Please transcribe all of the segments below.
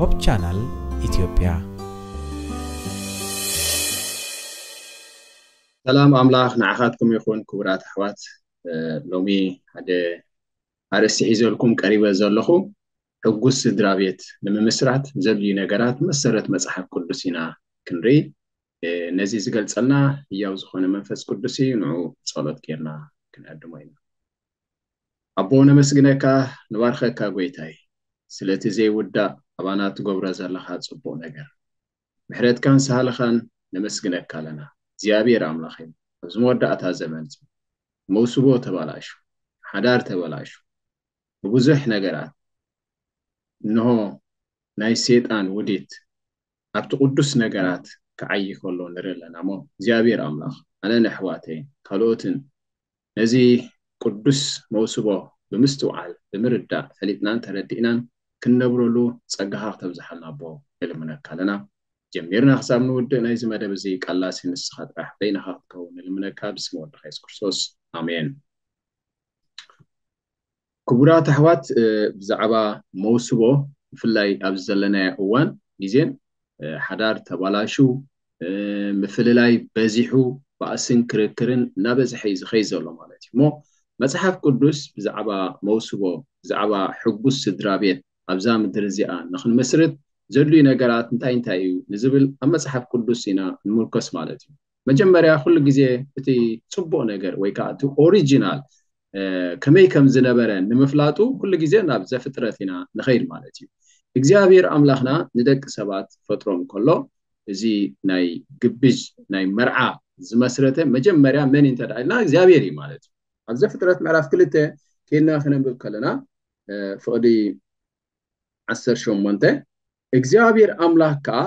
ሆፕ ቻናል ኢትዮጵያ። ሰላም ኣምላኽ ንዓኻትኩም ይኹን ክቡራት ኣሕዋት። ሎሚ ሓደ ኣርእስቲ ሒዘልኩም ቀሪበ ዘለኹ ሕጉስ ስድራ ቤት ንምምስራት ዘድልዩ ነገራት መሰረት መጽሓፍ ቅዱስ ኢና ክንርኢ። ነዚ ዝገልጸልና ህያው ዝኾነ መንፈስ ቅዱስ እዩ። ንዑ ጸሎት ጌርና ክንዕድሞ ኢና። ኣቦ ነመስግነካ፣ ንባርከካ ጎይታይ፣ ስለቲ ዘይውዳእ ኣባና ትገብሮ ዘለኻ ጽቡቕ ነገር። ምሕረትካን ሳህልኻን ነመስግነካ ኣለና። እግዚኣብሔር ኣምላኽ እዩ፣ ኣብዚ መወዳእታ ዘመን መውስቦ ተባላሹ፣ ሓዳር ተበላሹ፣ ብብዙሕ ነገራት እንሆ ናይ ሰይጣን ውዲት ኣብቲ ቅዱስ ነገራት ክዓይ ከሎ ንርኢ ኣለና። እሞ እግዚኣብሔር ኣምላኽ ኣነን ኣሕዋተይን ካልኦትን ነዚ ቅዱስ መውስቦ ብምስትውዓል ብምርዳእ ፈሊጥናን ተረዲእናን ክንነብረሉ ጸጋኻ ክተብዝሓልና ኣቦ ንልምነካ ኣለና። ጀሚርና ክሳብ ንውድእ ናይዚ መደብ እዚ ቃላሲ ንስኻ ጥራሕ በይንኻ ክትከውን ንልምነካ ብስም ወድኻ የሱስ ክርስቶስ ኣሜን። ክቡራት ኣሕዋት ብዛዕባ መውስቦ ብፍላይ ኣብዚ ዘለናዮ እዋን ግዜን ሓዳር ተባላሹ ምፍልላይ በዚሑ ባእስን ክርክርን እናበዝሐ እዩ ዝኸይ ዘሎ ማለት እዩ እሞ መፅሓፍ ቅዱስ ብዛዕባ መውስቦ ብዛዕባ ሕጉስ ስድራ ቤት ኣብዛ ምድሪ እዚኣ ንክንምስርት ዘድልዩ ነገራት እንታይ እንታይ እዩ ንዝብል ኣብ መፅሓፍ ቅዱስ ኢና ንምርኮስ ማለት እዩ። መጀመርያ ኩሉ ግዜ እቲ ፅቡቕ ነገር ወይ ከዓ እቲ ኦሪጂናል ከመይ ከም ዝነበረ ንምፍላጡ ኩሉ ግዜ ናብ ዘፍጥረት ኢና ንኸይድ ማለት እዩ። እግዚኣብሔር ኣምላኽና ንደቂ ሰባት ፈጥሮም ከሎ እዚ ናይ ግብዥ ናይ መርዓ ዝመስረተ መጀመርያ መን እንተ ኢልና እግዚኣብሔር እዩ ማለት እዩ። ኣብ ዘፍጥረት ምዕራፍ ክልተ ከይድና ክነንብብ ከለና ፍቕዲ ዓሰርተ ሸሞንተ እግዚኣብሔር ኣምላኽ ከኣ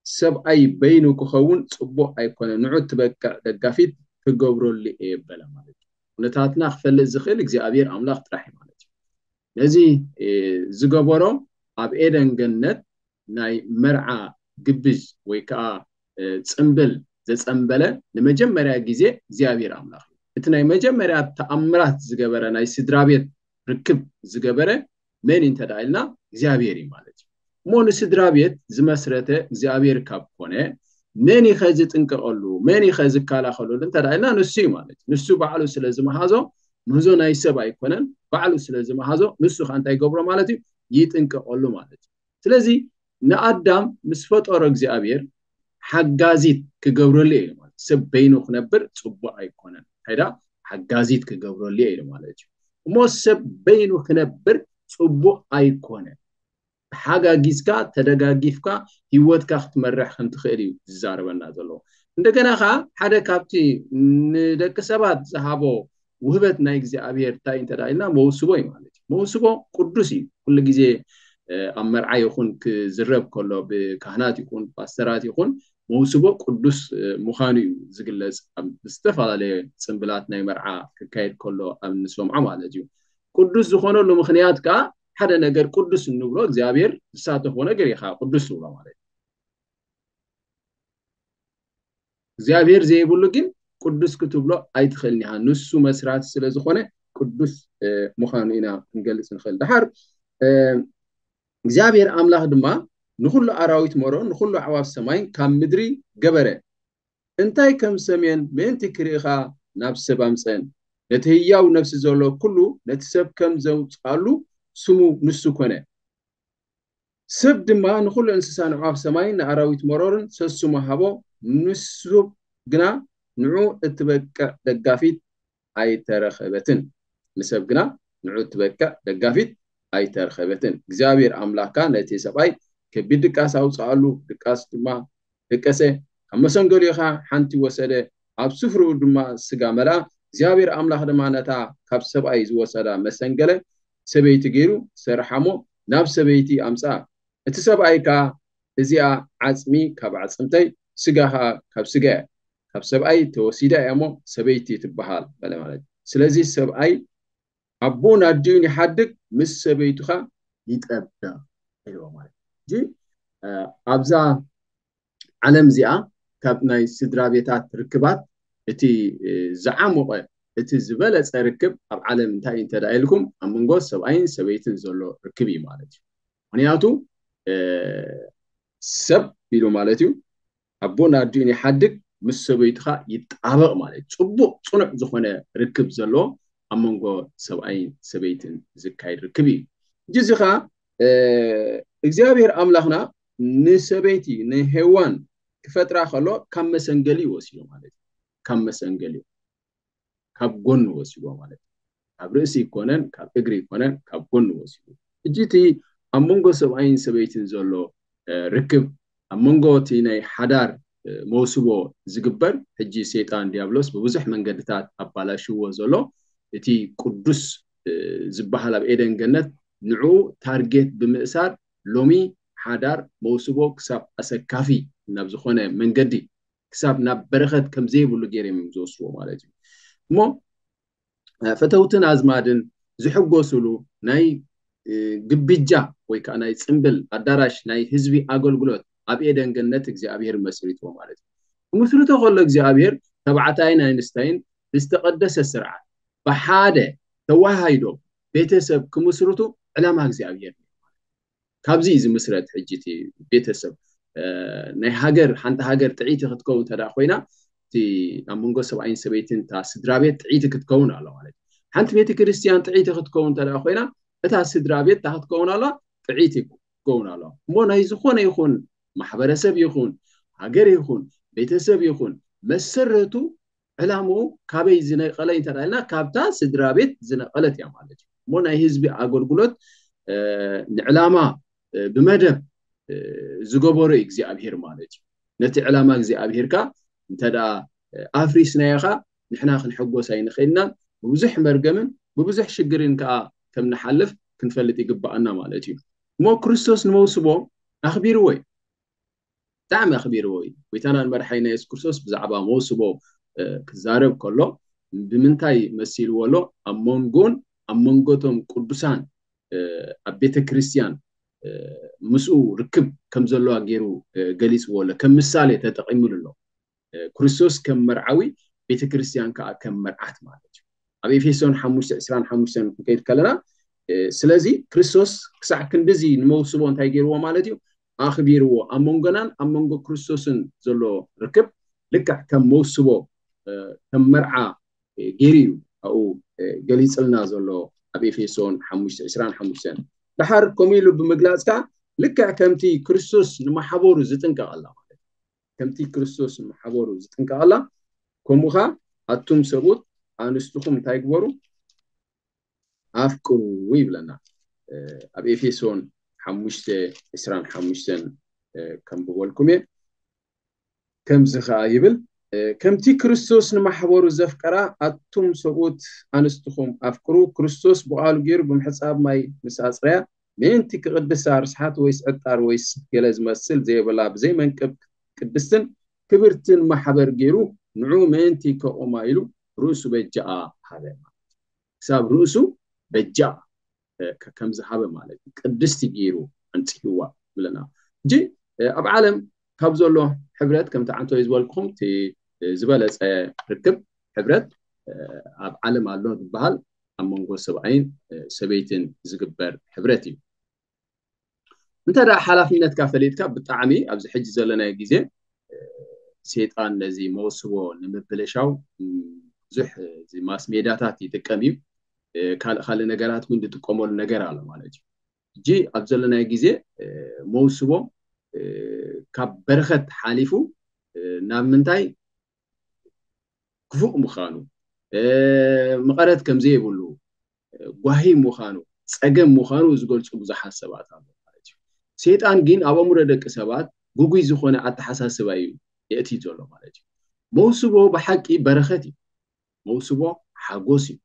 ሰብኣይ በይኑ ክኸውን ጽቡቕ ኣይኮነ፣ ንዑ ትበቅዕ ደጋፊት ክገብረሉ እየ በለ ማለት እዩ። ኩነታትና ክፈልጥ ዝኽእል እግዚኣብሔር ኣምላኽ ጥራሕ እዩ ማለት እዩ። ነዚ ዝገበሮ ኣብ ኤደን ገነት ናይ መርዓ ግብዝ ወይ ከዓ ፅምብል ዘፀምበለ ንመጀመርያ ግዜ እግዚኣብሔር ኣምላኽ እዩ። እቲ ናይ መጀመርያ ተኣምራት ዝገበረ ናይ ስድራ ቤት ርክብ ዝገበረ መን እንተ ኢልና እግዚኣብሔር እዩ ማለት እዩ። እሞ ንስድራ ቤት ዝመስረተ እግዚኣብሔር ካብ ኮነ መን ይኸ ዝጥንቀቐሉ መን ይኸ ዝከላኸለሉ እንተ ኢልና ንሱ እዩ ማለት እዩ። ንሱ ባዕሉ ስለ ዝመሃዞ ምህዞ ናይ ሰብ ኣይኮነን። ባዕሉ ስለ ዝመሃዞ ንሱ ከዓ እንታይ ይገብሮ ማለት እዩ? ይጥንቀቐሉ ማለት እዩ። ስለዚ ንኣዳም ምስ ፈጠሮ እግዚኣብሔር ሓጋዚት ክገብረሉ እዩ ማለት ሰብ በይኑ ክነብር ፅቡቅ ኣይኮነን። እንታይ ዳ ሓጋዚት ክገብረሉ እዩ ማለት እዩ። እሞ ሰብ በይኑ ክነብር ፅቡቅ ኣይኮነን። ተሓጋጊዝካ ተደጋጊፍካ ህይወትካ ክትመርሕ ከም ትኽእል እዩ ዝዛረበና ዘለዎ። እንደገና ከዓ ሓደ ካብቲ ንደቂ ሰባት ዝሃቦ ውህበት ናይ እግዚኣብሔር እንታይ እንተ ኢልና መውስቦ እዩ ማለት እዩ። መውስቦ ቅዱስ እዩ። ኩሉ ግዜ ኣብ መርዓ ይኹን ክዝረብ ከሎ ብካህናት ይኹን ፓስተራት ይኹን መውስቦ ቅዱስ ምዃኑ እዩ ዝግለጽ። ኣብ ዝተፈላለየ ጽምብላት ናይ መርዓ ክካየድ ከሎ ኣብ እንሰምዖ ማለት እዩ። ቅዱስ ዝኾነሉ ምኽንያት ከዓ ሓደ ነገር ቅዱስ እንብሎ እግዚኣብሔር ዝሳተፎ ነገር ኢኻ ቅዱስ ትብሎ ማለት እዩ። እግዚኣብሔር ዘይብሉ ግን ቅዱስ ክትብሎ ኣይትኽእልን ኢኻ። ንሱ መስራቲ ስለ ዝኾነ ቅዱስ ምዃኑ ኢና ክንገልጽ ንኽእል። ድሓር እግዚኣብሔር ኣምላኽ ድማ ንኹሉ ኣራዊት መሮን ንኹሉ ኣዕዋፍ ሰማይን ካብ ምድሪ ገበረ። እንታይ ከም ሰምየን ምእንቲ ክርእኻ ናብ ሰብ ኣምፀን። ነቲ ህያው ነፍሲ ዘሎ ኩሉ ነቲ ሰብ ከም ዘውፅኣሉ ስሙ ንሱ ኮነ። ሰብ ድማ ንኹሉ እንስሳ ንዕዋፍ ሰማይን ንኣራዊት መሮርን ሰሱሙ ሃቦ። ንሱ ግና ንዑ እትበቅዕ ደጋፊት ኣይተረኸበትን። ንሰብ ግና ንዑ እትበቅዕ ደጋፊት ኣይተረኸበትን። እግዚኣብሔር ኣምላኽካ ነቲ ሰብኣይ ከቢድ ድቃስ ኣውፅኣሉ፣ ድቃስ ድማ ደቀሰ። ካብ መሰንገሊኡ ኸዓ ሓንቲ ወሰደ፣ ኣብ ስፍርኡ ድማ ስጋ መልኣ። እግዚኣብሔር ኣምላኽ ድማ ነታ ካብ ሰብኣይ ዝወሰዳ መሰንገለ ሰበይቲ ገይሩ ሰርሓሞ ናብ ሰበይቲ ኣምፅኣ። እቲ ሰብኣይ ከኣ እዚኣ ዓፅሚ ካብ ዓፅምተይ ስጋ ኸዓ ካብ ስጋየ ካብ ሰብኣይ ተወሲዳ እያ እሞ ሰበይቲ ትበሃል በለ ማለት እዩ። ስለዚ ሰብኣይ ኣቦኡን ኣዲኡን ይሓድግ ምስ ሰበይቱ ኸዓ ይጠብቕ ኢልዎ ማለት እዩ። ኣብዛ ዓለም እዚኣ ካብ ናይ ስድራ ቤታት ርክባት እቲ ዝዓሞቐ እቲ ዝበለፀ ርክብ ኣብ ዓለም እንታይ እዩ እንተ ኢልኩም ኣብ መንጎ ሰብኣይን ሰበይትን ዘሎ ርክብ እዩ ማለት እዩ። ምክንያቱ ሰብ ኢሉ ማለት እዩ። ኣቦን ኣዲኡን ይሓድግ፣ ምስ ሰበይቱ ኸኣ ይጣበቕ ማለት እዩ። ጽቡቕ ጽኑዕ ዝኾነ ርክብ ዘለዎ ኣብ መንጎ ሰብኣይን ሰበይትን ዝካየድ ርክብ እዩ። ሕጂ እዚ ኸኣ እግዚኣብሔር ኣምላኽና ንሰበይቲ ንሄዋን ክፈጥራ ከሎ ካብ መሰንገሊ ወሲዱ ማለት እዩ። ካብ መሰንገሊ ካብ ጎኒ ወሲድዎ ማለት እዩ። ካብ ርእሲ ይኮነን ካብ እግሪ ይኮነን ካብ ጎኒ ወሲዱ። ሕጂ እቲ ኣብ መንጎ ሰብኣይን ሰበይትን ዘሎ ርክብ ኣብ መንጎ እቲ ናይ ሓዳር መውስቦ ዝግበር ሕጂ ሰይጣን ዲያብሎስ ብብዙሕ መንገድታት ኣባላሽዎ ዘሎ እቲ ቅዱስ ዝበሃል ኣብ ኤደን ገነት ንዕኡ ታርጌት ብምእሳር ሎሚ ሓዳር መውስቦ ክሳብ ኣሰካፊ ናብ ዝኾነ መንገዲ ክሳብ ናብ በረኸት ከም ዘይብሉ ገይሮም እዮም ዝወስድዎ ማለት እዩ። እሞ ፈተውትን ኣዝማድን ዝሕጎስሉ ናይ ግብጃ ወይ ከዓ ናይ ፅምብል ኣዳራሽ ናይ ህዝቢ ኣገልግሎት ኣብ ኤደን ገነት እግዚኣብሔር መስሪትዎ ማለት እዩ። ክምስርቶ ከሎ እግዚኣብሔር ተባዕታይን ኣንስታይን ብዝተቐደሰ ስርዓት ብሓደ ተዋሃሂዶ ቤተሰብ ክምስርቱ ዕላማ እግዚኣብሔር ካብዚ እዩ ዝምስረት። ሕጂ እቲ ቤተሰብ ናይ ሃገር ሓንቲ ሃገር ጥዕይቲ ክትከውን እንተ ኮይና እቲ ኣብ መንጎ ሰብኣይን ሰበይትን እታ ስድራ ቤት ጥዕይቲ ክትከውን ኣለ ማለት እዩ። ሓንቲ ቤተ ክርስትያን ጥዕይቲ ክትከውን እንተ ኮይና እታ ስድራ ቤት እታ ክትከውን ኣላ ጥዕይቲ ክትከውን ኣለዋ። እሞ ናይ ዝኾነ ይኹን ማሕበረሰብ ይኹን ሃገር ይኹን ቤተሰብ ይኹን መሰረቱ ዕላምኡ ካበይ ዝነቀለ እንተ ኢልና ካብታ ስድራ ቤት ዝነቀለት እያ ማለት እዩ። እሞ ናይ ህዝቢ ኣገልግሎት ንዕላማ ብመደብ ዝገበሮ እግዚኣብሄር ማለት እዩ። ነቲ ዕላማ እግዚኣብሄር ከ እንተ ኣፍሪስናዮ ከ ንሕና ክንሕጎስ ኣይንኽእልናን ብብዙሕ መርገምን ብብዙሕ ሽግርን ከኣ ከም ንሓልፍ ክንፈልጥ ይግባኣና ማለት እዩ። እሞ ክርስቶስ ንመውስቦ ኣኽቢርዎ እዩ። ብጣዕሚ ኣኽቢርዎ እዩ። ጎይታናን መድሓኒና የሱስ ክርስቶስ ብዛዕባ መውስቦ ክዛረብ ከሎ ብምንታይ መሲልዎ ኣሎ? ኣብ መንጎን ኣብ መንጎቶም ቅዱሳን ኣብ ቤተ ክርስትያን ምስኡ ርክብ ከም ዘለዋ ገይሩ ገሊፅዎ ኣሎ። ከም ምሳሌ ተጠቂሙሉ ኣሎ። ክርስቶስ ከም መርዓዊ ቤተ ክርስትያን ከዓ ከም መርዓት ማለት እዩ። ኣብ ኤፌሶን ሓሙሽተ ዕስራን ሓሙሽተን ክንከይድ ከለና ስለዚ ክርስቶስ ክሳዕ ክንድዚ ንመውስቦ እንታይ ገይርዎ ማለት እዩ? ኣኽቢርዎ። ኣብ መንጎናን ኣብ መንጎ ክርስቶስን ዘሎ ርክብ ልክዕ ከም መውስቦ ከም መርዓ ገይሩ እዩ ኣብኡ ገሊፅልና ዘሎ ኣብ ኤፌሶን ሓሙሽተ ዕስራን ሓሙሽተን። ደሓር ከምኡ ኢሉ ብምግላፅ ከዓ ልክዕ ከምቲ ክርስቶስ ንማሕበሩ ዝጥንቀቐላ ማለት ከምቲ ክርስቶስ ንማሕበሩ ዝጥንቀቐላ ከምኡ ከዓ ኣቱም ሰብኡት ኣንስትኹም እንታይ ግበሩ ኣፍቅሩ ይብለና። ኣብ ኤፌሶን ሓሙሽተ ዕስራን ሓሙሽተን ከም ብበልኩም እየ። ከምዚ ከዓ ይብል ከምቲ ክርስቶስ ንማሕበሩ ዘፍቀራ ኣቱም ሰብኡት ኣንስትኹም ኣፍቅሩ። ክርስቶስ ብቃሉ ገይሩ ብምሕፃብ ማይ ምስ ኣፅረያ ምእንቲ ክቅድሳ ርስሓት ወይስ ዕጣር ወይስ ገለ ዝመስል ዘይብላ ብዘይ መንቅብ ቅድስትን ክብርትን ማሕበር ገይሩ ንዑ ምእንቲ ከቁማ ኢሉ ርእሱ በጃኣ ሃበ። ክሳብ ርእሱ በጃኣ ከም ዝሃበ ማለት እዩ። ቅድስቲ ገይሩ ኣንፅህዋ ብለና። ሕጂ ኣብ ዓለም ካብ ዘሎ ሕብረት ከምቲ ዓንቶ ዝበልኩም እቲ ዝበለፀ ርክብ ሕብረት ኣብ ዓለም ኣሎ ዝበሃል ኣብ መንጎ ሰብኣይን ሰበይትን ዝግበር ሕብረት እዩ። እንተ ደኣ ሓላፍነትካ ፈሊጥካ ብጣዕሚ ኣብዚ ሕጂ ዘለናዮ ግዜ ሰይጣን ነዚ መወስቦ ንምብልሻው ብዙሕ እዚ ማስ ሜዳታት ይጥቀም እዩ። ካልእ ካልእ ነገራት እውን ዝጥቀመሉ ነገር ኣሎ ማለት እዩ። ሕጂ ኣብ ዘለናዮ ግዜ መውስቦ ካብ በረኸት ሓሊፉ ናብ ምንታይ ክፉእ ምዃኑ፣ መቐረት ከም ዘይብሉ፣ ጓሂ ምዃኑ፣ ጸገም ምዃኑ ዝገልጹ ብዙሓት ሰባት ኣለዉ ማለት እዩ። ሰይጣን ግን ኣብ ኣእምሮ ደቂ ሰባት ግጉይ ዝኾነ ኣተሓሳስባ እዩ የእትዩ ዘሎ ማለት እዩ። መውስቦ ብሓቂ በረኸት እዩ። መውስቦ ሓጎስ እዩ።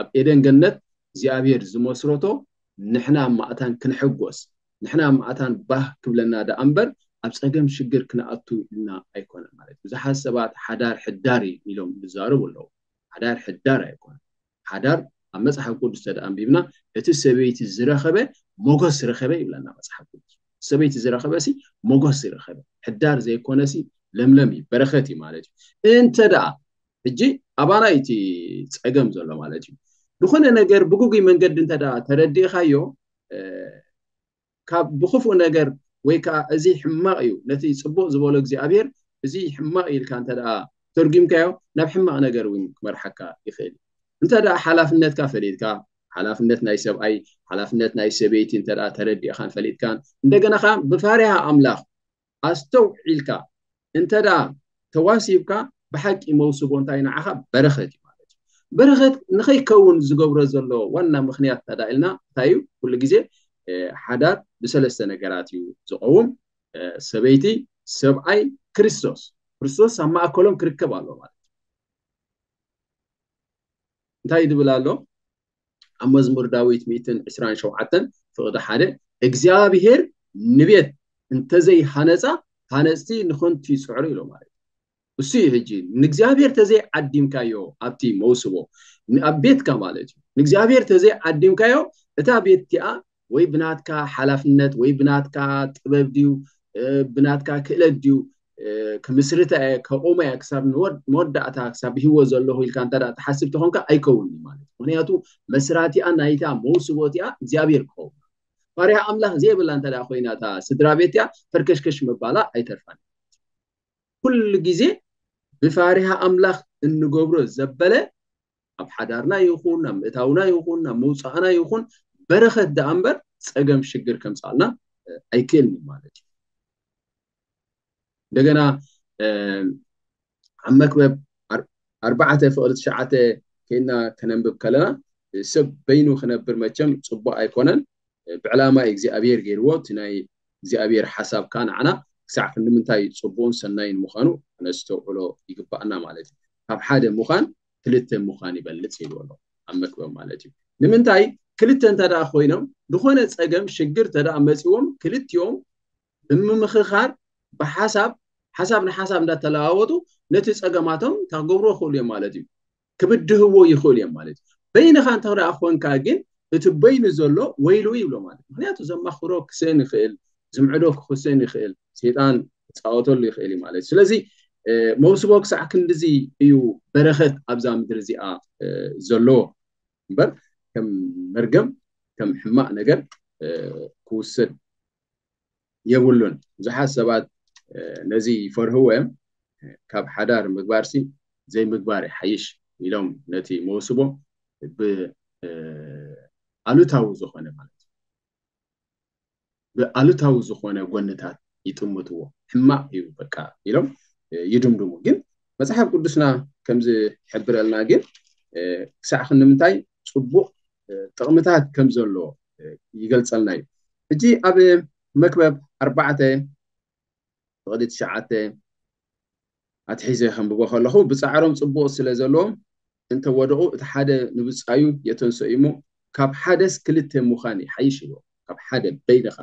ኣብ ኤደን ገነት እግዚኣብሔር ዝመስረቶ ንሕና ኣብ ማእታን ክንሕጎስ፣ ንሕና ኣብ ማእታን ባህ ክብለና ደኣ እምበር ኣብ ጸገም ሽግር ክንኣቱ ኢልና ኣይኮነን ማለት እዩ። ብዙሓት ሰባት ሓዳር ሕዳር እዩ ኢሎም ዝዛረቡ ኣለዉ። ሓዳር ሕዳር ኣይኮነን። ሓዳር ኣብ መጽሓፍ ቅዱስ ተደኣ ኣንቢብና እቲ ሰበይቲ ዝረኸበ ሞገስ ረኸበ ይብለና መጽሓፍ ቅዱስ። ሰበይቲ ዝረኸበ ሲ ሞገስ ይረኸበ። ሕዳር ዘይኮነ ሲ ለምለም እዩ፣ በረኸት እዩ ማለት እዩ። እንተ ደኣ ሕጂ ኣባና እዩ እቲ ጸገም ዘሎ ማለት እዩ። ዝኾነ ነገር ብግጉይ መንገዲ እንተ ደኣ ተረዲእኻዮ ካብ ብክፉእ ነገር ወይ ከዓ እዚ ሕማቕ እዩ፣ ነቲ ጽቡቕ ዝበሎ እግዚኣብሔር እዚ ሕማቕ እዩ ኢልካ እንተ ደኣ ተርጉምካዮ፣ ናብ ሕማቕ ነገር እውን ክመርሓካ ይኽእል እዩ። እንተ ደኣ ሓላፍነትካ ፈሊጥካ፣ ሓላፍነት ናይ ሰብኣይ፣ ሓላፍነት ናይ ሰበይቲ እንተ ደኣ ተረዲእካን ፈሊጥካን፣ እንደገና ከዓ ብፋሪሃ ኣምላኽ ኣስተውዒልካ እንተ ደኣ ተዋሲብካ፣ ብሓቂ መውስቦ እንታይ ንዓኻ በረኸት እዩ ማለት እዩ። በረኸት ንኸይከውን ዝገብሮ ዘሎ ዋና ምኽንያት እንተ ደኣ ኢልና እንታይ እዩ? ኩሉ ግዜ ሓዳር ብሰለስተ ነገራት እዩ ዝቐውም። ሰበይቲ፣ ሰብኣይ፣ ክርስቶስ። ክርስቶስ ኣብ ማእከሎም ክርከብ ኣሎ ማለት እዩ። እንታይ ድብል ኣሎ ኣብ መዝሙር ዳዊት ሚእትን ዕስራን ሸውዓተን ፍቕዲ ሓደ? እግዚኣብሔር ንቤት እንተዘይሃነፃ ሃነፅቲ ንኸንቱ ይፅዕሩ ኢሎ ማለት እዩ። እሱ እዩ ሕጂ ንእግዚኣብሔር ተዘይ ዓዲምካዮ ኣብቲ መውስቦ ኣብ ቤትካ ማለት እዩ። ንእግዚኣብሔር ተዘይ ዓዲምካዮ እታ ቤት እቲኣ ወይ ብናትካ ሓላፍነት ወይ ብናትካ ጥበብ ድዩ ብናትካ ክእለት ድዩ ክምስርታ እየ ከቑማ እየ ክሳብ መወዳእታ ክሳብ ብሂወት ዘለኹ ኢልካ እንተ ትሓስብ ተኾንካ ኣይከውን እዩ ማለት። ምክንያቱ መስራቲኣ ናይታ መውስቦ እቲኣ እግዚኣብሔር ክኸውን። ባርያ ኣምላኽ ዘይብላ እንተ ኮይና እታ ስድራ ቤት እቲኣ ፈርከሽከሽ ምባላ ኣይተርፋን። ኩሉ ግዜ ብፋሪሃ ኣምላኽ እንገብሮ ዘበለ ኣብ ሓዳርና ይኹን ናብ ምእታውና ይኹን ናብ መውፃእና ይኹን በረኸት ደኣ እምበር ፀገም ሽግር ከምፃልና ኣይክእልን እዩ ማለት እዩ። እንደገና ኣብ መክበብ ኣርባዕተ ፍቕሪ ትሽዓተ ከይና ከነንብብ ከለና ሰብ በይኑ ክነብር መቸም ፅቡቅ ኣይኮነን። ብዕላማ እግዚኣብሔር ገይርዎ እቲ ናይ እግዚኣብሔር ሓሳብ ከዓ ንዓና ክሳዕ ክንዲ ምንታይ ፅቡቅን ሰናይን ምዃኑ ክነስተውዕሎ ይግባኣና ማለት እዩ። ካብ ሓደ ምዃን ክልተ ምዃን ይበልፅ ይብሉ ኣሎ ኣብ መክበብ ማለት እዩ። ንምንታይ ክልተ እንተ ደኣ ኮይኖም ዝኾነ ፀገም ሽግር እንተ ደኣ መፂዎም ክልቲኦም ብምምኽኻር ብሓሳብ ሓሳብ ንሓሳብ እንዳተለዋወጡ ነቲ ፀገማቶም ታክገብርዎ ክእሉ እዮም ማለት እዩ። ክብድህዎ ይኽእሉ እዮም ማለት እዩ። በይንኻ እንተ ደኣ ኮንካ ግን እቲ በይኑ ዘሎ ወይሉ ይብሎ ማለት ምክንያቱ ዘማኽሮ ክስእን ይኽእል፣ ዝምዕዶ ክኽስእን ይኽእል፣ ሰይጣን ክፃወተሉ ይኽእል እዩ ማለት ስለዚ መውስቦ ክሳዕ ክንድዚ እዩ በረኸት ኣብዛ ምድሪ እዚኣ ዘለዎ እምበር ከም መርገም ከም ሕማቕ ነገር ክውሰድ የብሉን። ብዙሓት ሰባት ነዚ ይፈርህዎ እዮም። ካብ ሓዳር ምግባርሲ ዘይምግባር ይሓይሽ ኢሎም ነቲ መውስቦ ብኣሉታዊ ዝኾነ ማለት ብኣሉታዊ ዝኾነ ጎንታት ይጥምትዎ። ሕማቕ እዩ በቃ ኢሎም ይድምድሙ። ግን መፅሓፍ ቅዱስና ከምዝሕብረልና ግን ክሳዕ ክንምንታይ ፅቡቕ ጥቕምታት ከም ዘሎ ይገልፀልና እዩ። ሕጂ ኣብ መክበብ ኣርባዕተ ፍቕዲ ትሽዓተ ኣትሒዘ ከንብቦ ከለኹ ብፃዕሮም ፅቡቕ ስለ ዘለዎም እንተወደቑ እቲ ሓደ ንብፃዩ የተንሰኡ እሞ ካብ ሓደስ ክልተ ምዃን ይሓይሽ ኢልዎ። ካብ ሓደ በይንኻ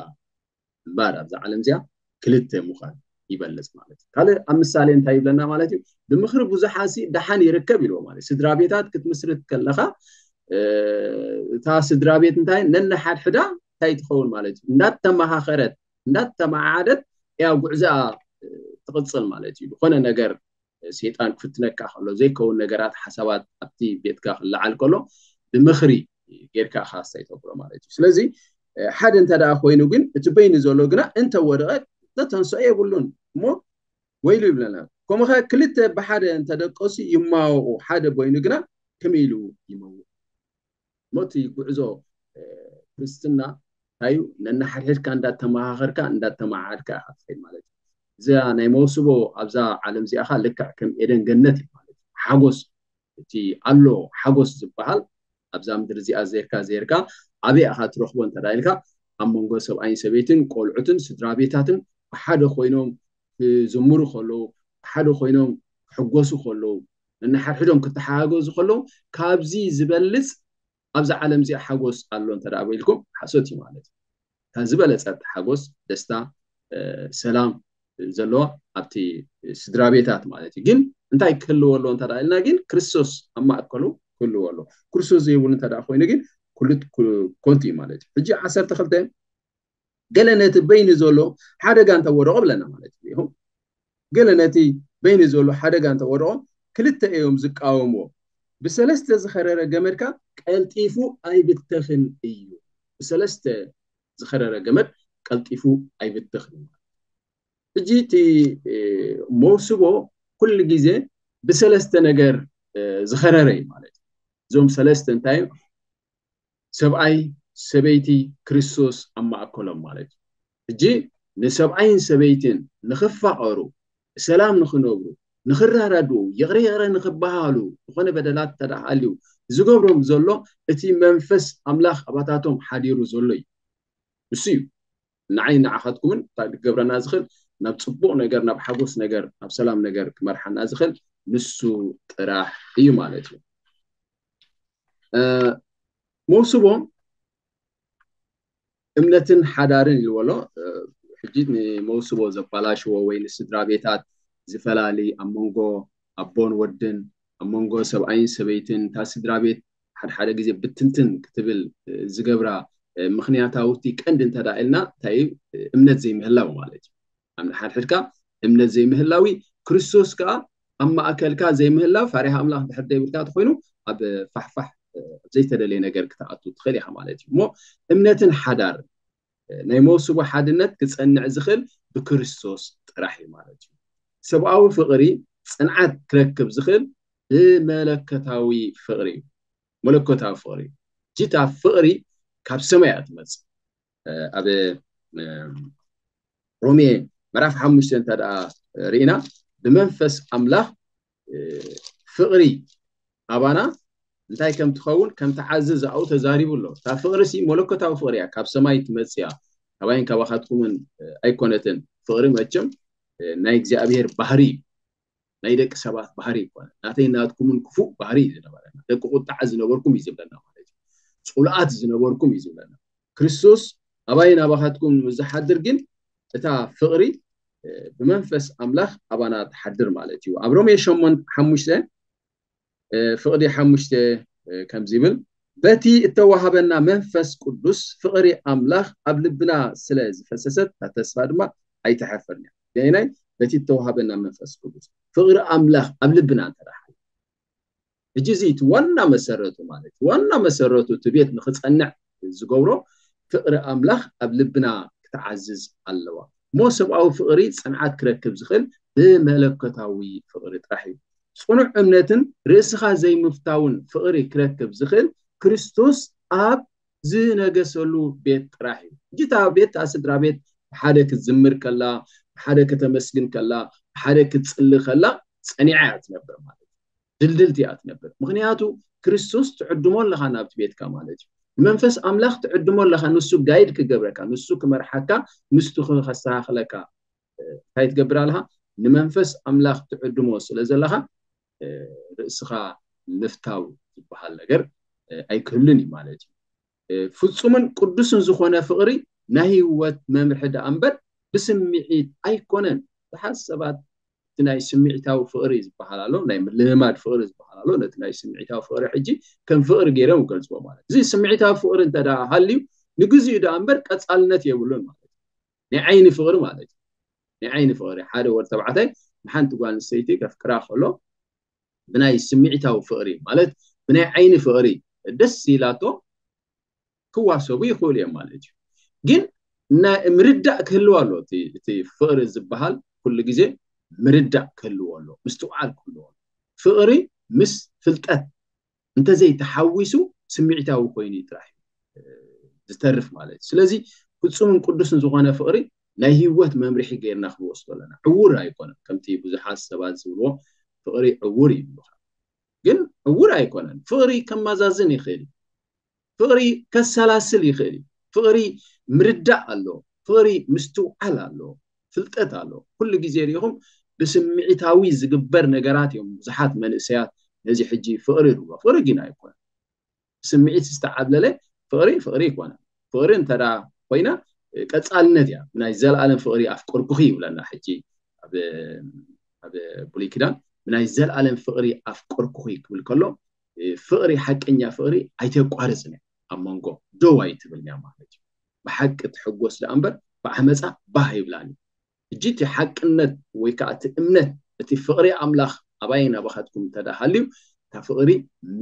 እምበር ኣብዛ ዓለም እዚኣ ክልተ ምዃን ይበልፅ ማለት እዩ። ካልእ ኣብ ምሳሌ እንታይ ይብለና ማለት እዩ? ብምኽሪ ብዙሓት ሲ ደሓን ይርከብ ኢልዎ ማለት ስድራ ቤታት ክትምስርት ከለኻ እታ ስድራ ቤት እንታይ ነነሓድሕዳ እንታይ ትኸውን ማለት እዩ? እንዳተመኻኸረት እንዳተመዓዓደት እያ ጉዕዞኣ ትቕፅል ማለት እዩ። ዝኾነ ነገር ሰይጣን ክፍትነካ ከሎ ዘይከውን ነገራት ሓሳባት ኣብቲ ቤትካ ክለዓል ከሎ ብምኽሪ ጌርካ ኢኻ ስታይ ተብሎ ማለት እዩ። ስለዚ ሓደ እንተ ደኣ ኮይኑ ግን እቲ በይኑ ዘሎ ግና እንተወደቐ ዘተንስኦ የብሉን እሞ ወይሉ ይብለና። ከምኡ ኸ ክልተ ብሓደ እንተደቀሱ ይማወቑ፣ ሓደ በይኑ ግና ከመይ ኢሉ ይመውቕ? እሞ እቲ ጉዕዞ ክርስትና እንታይ እዩ? ነናሓድሕድካ እንዳተመኻኸርካ እንዳተመዓዓድካ ኢኻ ትኸይድ ማለት እዩ። እዚኣ ናይ መውስቦ ኣብዛ ዓለም እዚኣኻ ልክዕ ከም ኤደን ገነት እዩ ማለት እዩ። ሓጎስ እቲ ኣሎ ሓጎስ ዝበሃል ኣብዛ ምድሪ እዚኣ ዜርካ ዜርካ ኣበይ ኢኻ ትረኽቦ እንተ ኢልካ ኣብ መንጎ ሰብኣይን ሰበይትን ቆልዑትን ስድራ ቤታትን ብሓደ ኮይኖም ክዝምሩ ከለዉ ብሓደ ኮይኖም ክሕጎሱ ከለዉ ነንሓድሕዶም ክተሓጋገዙ ከለዉ ካብዚ ዝበልፅ ኣብዛ ዓለም እዚኣ ሓጎስ ኣሎ እንተ ደኣ በኢልኩም ሓሶት እዩ ማለት እዩ። ካብ ዝበለፀ ሓጎስ ደስታ ሰላም ዘለዋ ኣብቲ ስድራ ቤታት ማለት እዩ። ግን እንታይ ክህልዎ ኣለዎ እንተ ደኣ ኢልና ግን ክርስቶስ ኣብ ማእከሉ ክህልዎ ኣለዎ። ክርስቶስ ዘይብሉ እንተ ደኣ ኮይኑ ግን ኩሉ ኮንቱ እዩ ማለት እዩ። ሕጂ ዓሰርተ ክልተ ገለ ነቲ በይኑ ዘሎ ሓደጋ እንተወደቆ ብለና ማለት እዩ። ገለ ነቲ በይኑ ዘሎ ሓደጋ እንተወደቆ ክልተ እዮም ዝቃወምዎ። ብሰለስተ ዝኸረረ ገመድካ ቀልጢፉ ኣይብተኽን እዩ። ብሰለስተ ዝኸረረ ገመድ ቀልጢፉ ኣይብትኽን እዩ። ሕጂ እቲ መውስቦ ኩሉ ግዜ ብሰለስተ ነገር ዝኸረረ እዩ ማለት እዩ። እዞም ሰለስተ እንታይ እዮም? ሰብኣይ፣ ሰበይቲ፣ ክርስቶስ ኣብ ማእከሎም ማለት እዩ። ሕጂ ንሰብኣይን ሰበይትን ንኽፋቐሩ፣ ብሰላም ንኽነብሩ፣ ንኽራዳድኡ፣ ይቕረ ይቕረ ንኽበሃሉ፣ ዝኾነ በደላት እንተ ደኣ ሃልዩ ዝገብሮም ዘሎ እቲ መንፈስ ኣምላኽ ኣባታቶም ሓዲሩ ዘሎ እዩ። እሱ እዩ ንዓይ ንዓኻትኩምን እንታይ ክገብረና ዝኽእል፣ ናብ ጽቡቕ ነገር፣ ናብ ሓጎስ ነገር፣ ናብ ሰላም ነገር ክመርሓና ዝኽእል ንሱ ጥራሕ እዩ ማለት እዩ። መውስቦ እምነትን ሓዳርን ኢልዎ ኣሎ። ሕጂ ንመውስቦ ዘባላሽዎ ወይ ንስድራ ቤታት ዝፈላሊ ኣብ መንጎ ኣቦን ወድን ኣብ መንጎ ሰብኣይን ሰበይትን እታ ስድራ ቤት ሓደ ሓደ ግዜ ብትንትን ክትብል ዝገብራ ምክንያታዊ እቲ ቀንዲ እንተ ደኣ ኢልና እንታይ እዩ? እምነት ዘይምህላው ማለት እዩ። ኣብ ንሓድሕድካ እምነት ዘይምህላዊ ክርስቶስ ከኣ ኣብ ማእከልካ ዘይምህላው ፋሪሃ ኣምላኽ ድሕር ዘይብልካ ተኮይኑ ኣብ ፋሕፋሕ ዘይተደለየ ነገር ክትኣቱ ትኽእል ኢኻ ማለት እዩ። እሞ እምነትን ሓዳር ናይ መውስቦ ሓድነት ክጸንዕ ዝኽእል ብክርስቶስ ጥራሕ እዩ ማለት እዩ። ሰብኣዊ ፍቕሪ ጽንዓት ክረክብ ዝኽእል ብመለኮታዊ ፍቕሪ እዩ። መለኮታዊ ፍቕሪ እዩ። ጅታ ፍቕሪ ካብ ሰማይ እያ ትመጽእ። ኣብ ሮሜ ምዕራፍ ሓሙሽተ እንተ ደኣ ርኢና ብመንፈስ ኣምላኽ ፍቕሪ ኣባና እንታይ ከም ትኸውን ከም ትዓዝዝ ኣብኡ ተዛሪቡ ኣሎ። እታ ፍቕሪ ሲ መለኮታዊ ፍቕሪ እያ፣ ካብ ሰማይ ትመጽእ እያ፣ ካባይን ካባኻትኩምን ኣይኮነትን። ፍቕሪ መቸም ናይ እግዚኣብሔር ባህሪ እዩ። ናይ ደቂ ሰባት ባህሪ ይኮነ ናተይ ናትኩምን ክፉእ ባህሪ እዩ ዝነበረና። ደቂ ቁጣዓ ዝነበርኩም እዩ ዝብለና ማለት እዩ። ጽሉኣት ዝነበርኩም እዩ ዝብለና። ክርስቶስ ኣባይን ኣባኻትኩም ምስ ዝሓድር ግን እታ ፍቕሪ ብመንፈስ ኣምላኽ ኣባና ትሓድር ማለት እዩ። ኣብ ሮሜ ሸሞንተ ሓሙሽተ ፍቕዲ ሓሙሽተ ከምዚ ይብል፣ በቲ እተዋሃበና መንፈስ ቅዱስ ፍቕሪ ኣምላኽ ኣብ ልብና ስለ ዝፈሰሰት እታ ተስፋ ድማ ኣይተሐፍርን እያ። ገናይ በቲ እተዋሃበና መንፈስ ቅዱስ ፍቕሪ ኣምላኽ ኣብ ልብና እንተ ደኣ ሓልዩ፣ ሕጂ እዚ እቲ ዋና መሰረቱ ማለት ዋና መሰረቱ እቲ ቤት ንኽጸንዕ ዝገብሮ ፍቕሪ ኣምላኽ ኣብ ልብና ክትዓዝዝ ኣለዋ። እሞ ሰብኣዊ ፍቕሪ ጽንዓት ክረክብ ዝኽእል ብመለኮታዊ ፍቕሪ ጥራሕ እዩ። ጽኑዕ እምነትን ርእስኻ ዘይምፍታውን ፍቕሪ ክረክብ ዝኽእል ክርስቶስ ኣብ ዝነገሰሉ ቤት ጥራሕ እዩ። ሕጂ እታ ቤት እታ ስድራ ቤት ብሓደ ክትዝምር ከላ፣ ብሓደ ከተመስግን ከላ፣ ብሓደ ክትጽሊ ከላ ጸኒዓ እያ ትነብር ማለት እዩ። ድልድልቲ እያ ትነብር። ምኽንያቱ ክርስቶስ ትዕድሞ ኣለኻ ናብቲ ቤትካ ማለት እዩ። ንመንፈስ ኣምላኽ ትዕድሞ ኣለኻ፣ ንሱ ጋይድ ክገብረካ፣ ንሱ ክመርሓካ፣ ንሱ ከስተኻኽለካ እንታይ ትገብር ኣለኻ? ንመንፈስ ኣምላኽ ትዕድሞ ስለ ዘለኻ ርእስኻ ምፍታው ዝበሃል ነገር ኣይክህሉን እዩ ማለት እዩ። ፍጹምን ቅዱስን ዝኾነ ፍቕሪ ናይ ህይወት መምርሒ ደኣ እምበር ብስምዒት ኣይኮነን። ብዙሓት ሰባት እቲ ናይ ስምዒታዊ ፍቕሪ ዝበሃል ኣሎ፣ ናይ ምልምማድ ፍቕሪ ዝበሃል ኣሎ። ነቲ ናይ ስምዒታዊ ፍቕሪ ሕጂ ከም ፍቕሪ ገይሮም ይገልጽዎ ማለት እዩ። እዚ ስምዒታዊ ፍቕሪ እንተ ደኣ ሃልዩ ንግዚኡ ደኣ እምበር ቀጻልነት የብሉን ማለት እዩ። ናይ ዓይኒ ፍቕሪ ማለት እዩ። ናይ ዓይኒ ፍቕሪ ሓደ ወዲ ተባዕታይ ንሓንቲ ጓል ኣንስተይቲ ከፍቅራ ከሎ ብናይ ስምዒታዊ ፍቕሪ ማለት ብናይ ዓይኒ ፍቕሪ ደስ ኢላቶ ክዋሰቡ ይኽእሉ እዮም ማለት እዩ። ግን ናይ ምርዳእ ክህልው ኣሎ። እቲ ፍቕሪ ዝበሃል ኩሉ ግዜ ምርዳእ ክህልዎ ኣሎ፣ ምስትውዓል ክህልዎ ኣሎ። ፍቕሪ ምስ ፍልጠት እንተዘይተሓዊሱ ስምዒታዊ ኮይኑ ጥራሕ እዩ ዝተርፍ ማለት እዩ። ስለዚ ፍጹምን ቅዱስን ዝኾነ ፍቕሪ ናይ ህይወት መምርሒ ገይርና ክንወስዶ ኣለና። ዕውር ኣይኮነን። ከምቲ ብዙሓት ሰባት ዝብልዎ ፍቕሪ ዕውር ይብሉኻ። ግን ዕውር ኣይኮነን። ፍቕሪ ከማዛዝን ይኽእል እዩ። ፍቕሪ ከሰላስል ይኽእል እዩ። ፍቕሪ ምርዳእ ኣሎ። ፍቕሪ ምስትውዓል ኣሎ። ፍልጠት ኣሎ። ኩሉ ግዜ ሪኢኹም ብስምዒታዊ ዝግበር ነገራት እዮም ብዙሓት መንእሰያት ነዚ ሕጂ ፍቕሪ ይብልዎ። ፍቕሪ ግን ኣይኮነን። ስምዒት ዝተዓብለለ ፍቕሪ ፍቕሪ ኣይኮነን። ፍቕሪ እንተ ኮይና ቀጻልነት እያ። ናይ ዘለኣለም ፍቕሪ ኣፍቀርኩኺ ይብለና ሕጂ ኣብ ብሉይ ኪዳን ብናይ ዘለኣለም ፍቕሪ ኣፍቀርኩኺ ክብል ከሎ ፍቕሪ ሓቀኛ ፍቕሪ ኣይተቋርጽን እያ። ኣብ መንጎ ደው ኣይትብልን እያ ማለት እዩ። ብሓቂ ትሕጎስ ደኣ እምበር ብዓመጻ ባህ ይብላን እዩ። ሕጂ እቲ ሓቅነት ወይ ከዓ እቲ እምነት እቲ ፍቕሪ ኣምላኽ ኣባይን ኣባኻትኩም እንተ ደኣ ሃልዩ እታ ፍቕሪ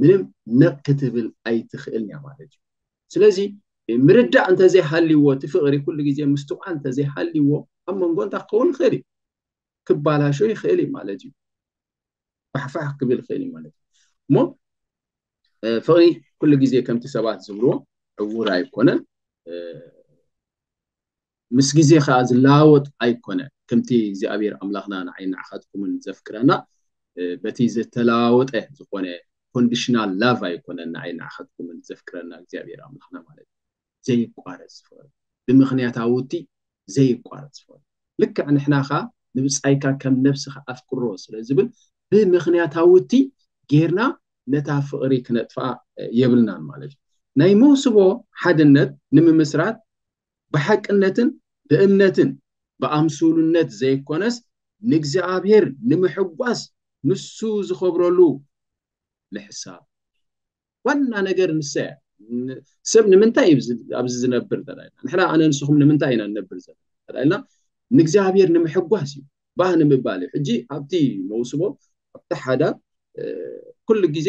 ምንም ነቕ ክትብል ኣይትኽእልን እያ ማለት እዩ። ስለዚ ምርዳእ እንተዘይሃልይዎ፣ እቲ ፍቕሪ ኩሉ ግዜ ምስትውዓል እንተዘይሃልይዎ፣ ኣብ መንጎ እንታይ ክኸውን ይኽእል እዩ? ክባላሾ ይኽእል እዩ ማለት እዩ። ፋሕፋሕ ክብል ይኽእል እዩ ማለት እዩ። እሞ ፍቕሪ ኩሉ ግዜ ከምቲ ሰባት ዝብልዎ ዕውር ኣይኮነን። ምስ ግዜ ከዓ ዝለዋወጥ ኣይኮነ። ከምቲ እግዚኣብሔር ኣምላኽና ንዓይ ንዓኻትኩምን ዘፍቅረና በቲ ዝተለዋወጠ ዝኾነ ኮንዲሽናል ላቭ ኣይኮነን። ንዓይ ንዓኻትኩምን ዘፍቅረና እግዚኣብሔር ኣምላኽና ማለት እዩ። ዘይቋረጽ ፍቕሪ፣ ብምኽንያታውቲ ዘይቋረጽ ፍቕሪ። ልክዕ ንሕና ኸዓ ንብጻይካ ከም ነብስኻ ኣፍቅሮ ስለ ዝብል ብምኽንያታውቲ ጌርና ነታ ፍቕሪ ክነጥፍኣ የብልናን ማለት እዩ። ናይ መውስቦ ሓድነት ንምምስራት ብሓቅነትን ብእምነትን ብኣምሱሉነት ዘይኮነስ ንእግዚኣብሔር ንምሕጓስ ንሱ ዝኸብረሉ ምሕሳብ። ዋና ነገር ንሳ እያ። ሰብ ንምንታይ እዩ ኣብዚ ዝነብር ተዳይና? ንሕና ኣነ ንስኹም ንምንታይ ኢና ንነብር ዘለና ተዳይና? ንእግዚኣብሔር ንምሕጓስ እዩ፣ ባህ ንምባል እዩ። ሕጂ ኣብቲ መውስቦ ኣብቲ ሓዳር ኩሉ ግዜ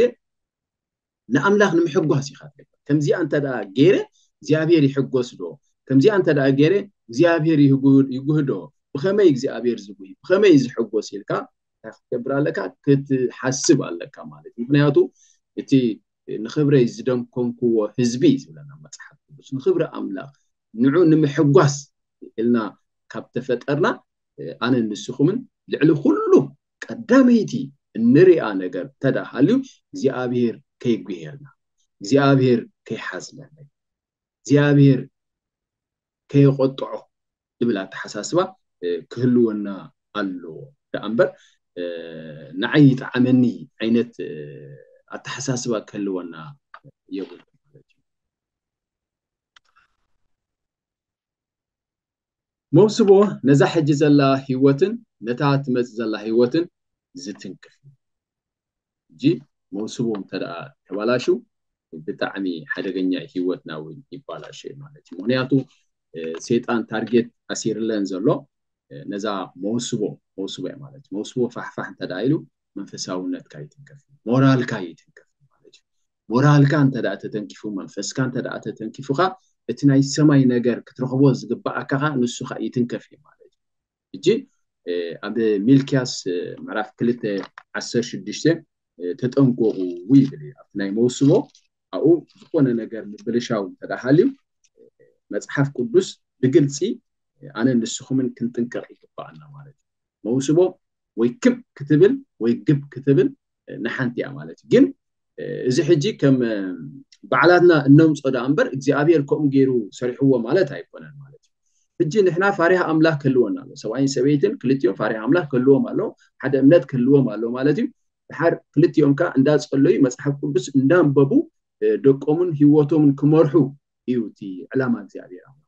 ንኣምላኽ ንምሕጓስ ኢኻ ትገብር። ከምዚኣ እንተ ደኣ ገይረ እግዚኣብሔር ይሕጎስ ዶ? ከምዚኣ እንተ ደኣ ገይረ እግዚኣብሔር ይጉህዶ? ብኸመይ እግዚኣብሔር ዝጉሂ? ብኸመይ ዝሕጎስ ኢልካ እንታይ ክትገብር ኣለካ? ክትሓስብ ኣለካ ማለት እዩ። ምክንያቱ እቲ ንኽብረይ ዝደንኮንክዎ ህዝቢ ዝብለና መፅሓፍ ቅዱስ፣ ንኽብሪ ኣምላኽ ንዑ ንምሕጓስ ኢልና ካብ ተፈጠርና ኣነ ንስኹምን ልዕሊ ኩሉ ቀዳመይቲ እንሪኣ ነገር እንተደኣ ሃልዩ እግዚኣብሔር ከይጉሄልና፣ እግዚኣብሔር ከይሓዝነና፣ እግዚኣብሔር ከየቆጥዖ ዝብል ኣተሓሳስባ ክህልወና ኣለዎ። ደኣ እምበር ንዓይ ይጠዓመኒ ዓይነት ኣተሓሳስባ ክህልወና የብሉ ማለት እዩ። መውስቦ ነዛ ሕጂ ዘላ ህይወትን ነታ ትመጽእ ዘላ ህይወትን ዝትንክፍ እዩ። ሕጂ መውስቦ እንተ ደኣ ተባላሹ ብጣዕሚ ሓደገኛ ህይወትና እውን ይባላሽ እዩ ማለት እዩ። ምክንያቱ ሰይጣን ታርጌት ኣሲርለን ዘሎ ነዛ መውስቦ፣ መውስቦ እያ ማለት እዩ። መውስቦ ፋሕፋሕ እንተ ደኣ ኢሉ መንፈሳውነትካ ይትንከፍ፣ ሞራልካ ይትንከፍ ማለት እዩ። ሞራልካ እንተ ደኣ ተተንኪፉ፣ መንፈስካ እንተ ደኣ ተተንኪፉካ፣ እቲ ናይ ሰማይ ነገር ክትረኽቦ ዝግባኣካ ኸዓ ንሱ ኸዓ ይትንከፍ እዩ ማለት እዩ። ሕጂ ኣብ ሚልክያስ ምዕራፍ ክልተ ዓሰርተ ሽዱሽተ ተጠንቀቑ ይብል እዩ። ኣብቲ ናይ መውስቦ ኣብኡ ዝኾነ ነገር ምብልሻው እንተ ደኣ ሃልዩ መጽሓፍ ቅዱስ ብግልጺ ኣነ ንስኹምን ክንጥንቀቕ ይግባኣና ማለት እዩ። መውስቦ ወይ ክብ ክትብል ወይ ግብ ክትብል ንሓንቲ እያ ማለት እዩ። ግን እዚ ሕጂ ከም ባዕላትና እነምጾ ደኣ እምበር እግዚኣብሔር ከምኡ ገይሩ ሰሪሕዎ ማለት ኣይኮነን ማለት እዩ። ሕጂ ንሕና ፋሪሃ ኣምላኽ ክህልወና ኣሎ። ሰብኣይን ሰበይትን ክልቲኦም ፋሪሃ ኣምላኽ ክህልዎም ኣሎ፣ ሓደ እምነት ክህልዎም ኣሎ ማለት እዩ። ድሓር ክልቲኦም ከኣ እንዳጸለዩ መጽሓፍ ቅዱስ እንዳንበቡ ደቆምን ህይወቶምን ክመርሑ እዩ እቲ ዕላማ እግዚኣብሔር ኣምላኽ።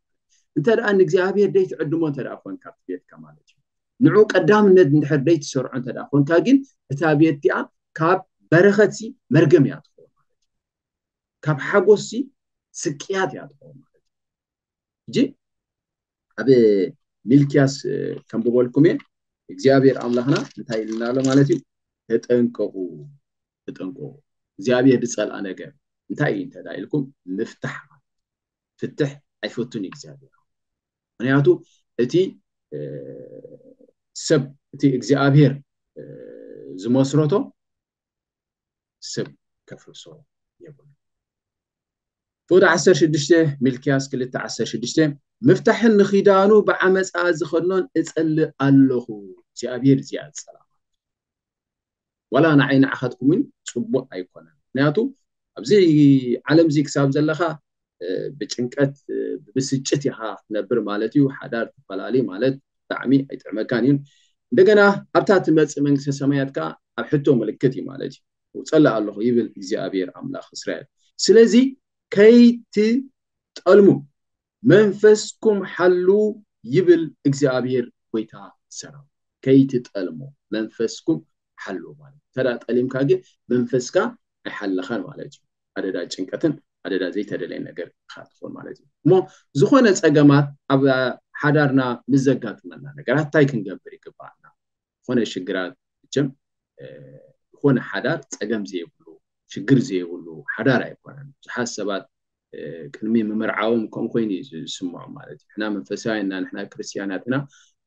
እንተ ደኣ ንእግዚኣብሔር ደይትዕድሞ እንተ ደኣ ኮንካ ኣብቲ ቤትካ ማለት እዩ፣ ንዑ ቀዳምነት እንድሕር ደይትሰርዖ እንተ ደኣ ኮንካ ግን እታ ቤት እቲኣ ካብ በረኸትሲ መርገም እያ ትኸውን ማለት እዩ። ካብ ሓጎስሲ ስቅያት እያ ትኸውን ማለት እዩ። ሕጂ ኣብ ሚልክያስ ከም ብበልኩም እየ እግዚኣብሔር ኣምላኽና እንታይ ኢልና ኣሎ ማለት እዩ? ተጠንቀቑ፣ ተጠንቀቑ። እግዚኣብሔር ዝጸልኣ ነገር እንታይ እዩ እንተ ኢልኩም ምፍታሕ ማለት ፍትሕ ኣይፈቱን እዩ እግዚኣብሔር። ምክንያቱ እቲ ሰብ እቲ እግዚኣብሔር ዝመስረቶ ሰብ ከፍርሶ የብሉ። ፍቅዲ ዓሰርተ ሽዱሽተ ሚልክያስ ክልተ ዓሰርተ ሽዱሽተ ምፍታሕን ንኺዳኑ ብዓመፃ ዝኸድኖን እፀልእ ኣለኹ እግዚኣብሔር እዚኣ ዝፀላ ዋላ ንዓይ ንዓኻትኩም እውን ፅቡቅ ኣይኮነን። ምክንያቱ ኣብዚ ዓለም እዚ ክሳብ ዘለካ ብጭንቀት ብብስጭት ኢኻ ክትነብር ማለት እዩ። ሓዳር ትፈላለ ማለት ብጣዕሚ ኣይጥዕመካን እዩ። እንደገና ኣብታ ትመፅእ መንግስተ ሰማያት ከዓ ኣብ ሕቶ ምልክት እዩ ማለት እዩ። ውፀላ ኣለኹ ይብል እግዚኣብሔር ኣምላኽ እስራኤል። ስለዚ ከይትጠልሙ መንፈስኩም ሓሉ ይብል እግዚኣብሔር ጎይታ ሰራዊት። ከይትጠልሙ መንፈስኩም ሓሉ ማለት ተዳ ጠሊምካ ግን መንፈስካ ኣይሓለኻን ማለት እዩ። ኣደዳ ጭንቀትን ኣደዳ ዘይተደለየ ነገር ኢኻ ትኾን ማለት እዩ። እሞ ዝኾነ ፀገማት ኣብ ሓዳርና ምስ ዘጋጥመና ነገራት እንታይ ክንገብር ይግባኣና? ዝኾነ ሽግራት መቸም ዝኾነ ሓዳር ፀገም ዘይብሉ ሽግር ዘይብሉ ሓዳር ኣይኮነን። ብዙሓት ሰባት ቅድሚ ምምርዓዎም ከም ኮይኑ እዩ ዝስምዖም ማለት እዩ። ንሕና መንፈሳውያን ኢና፣ ንሕና ክርስትያናት ኢና፣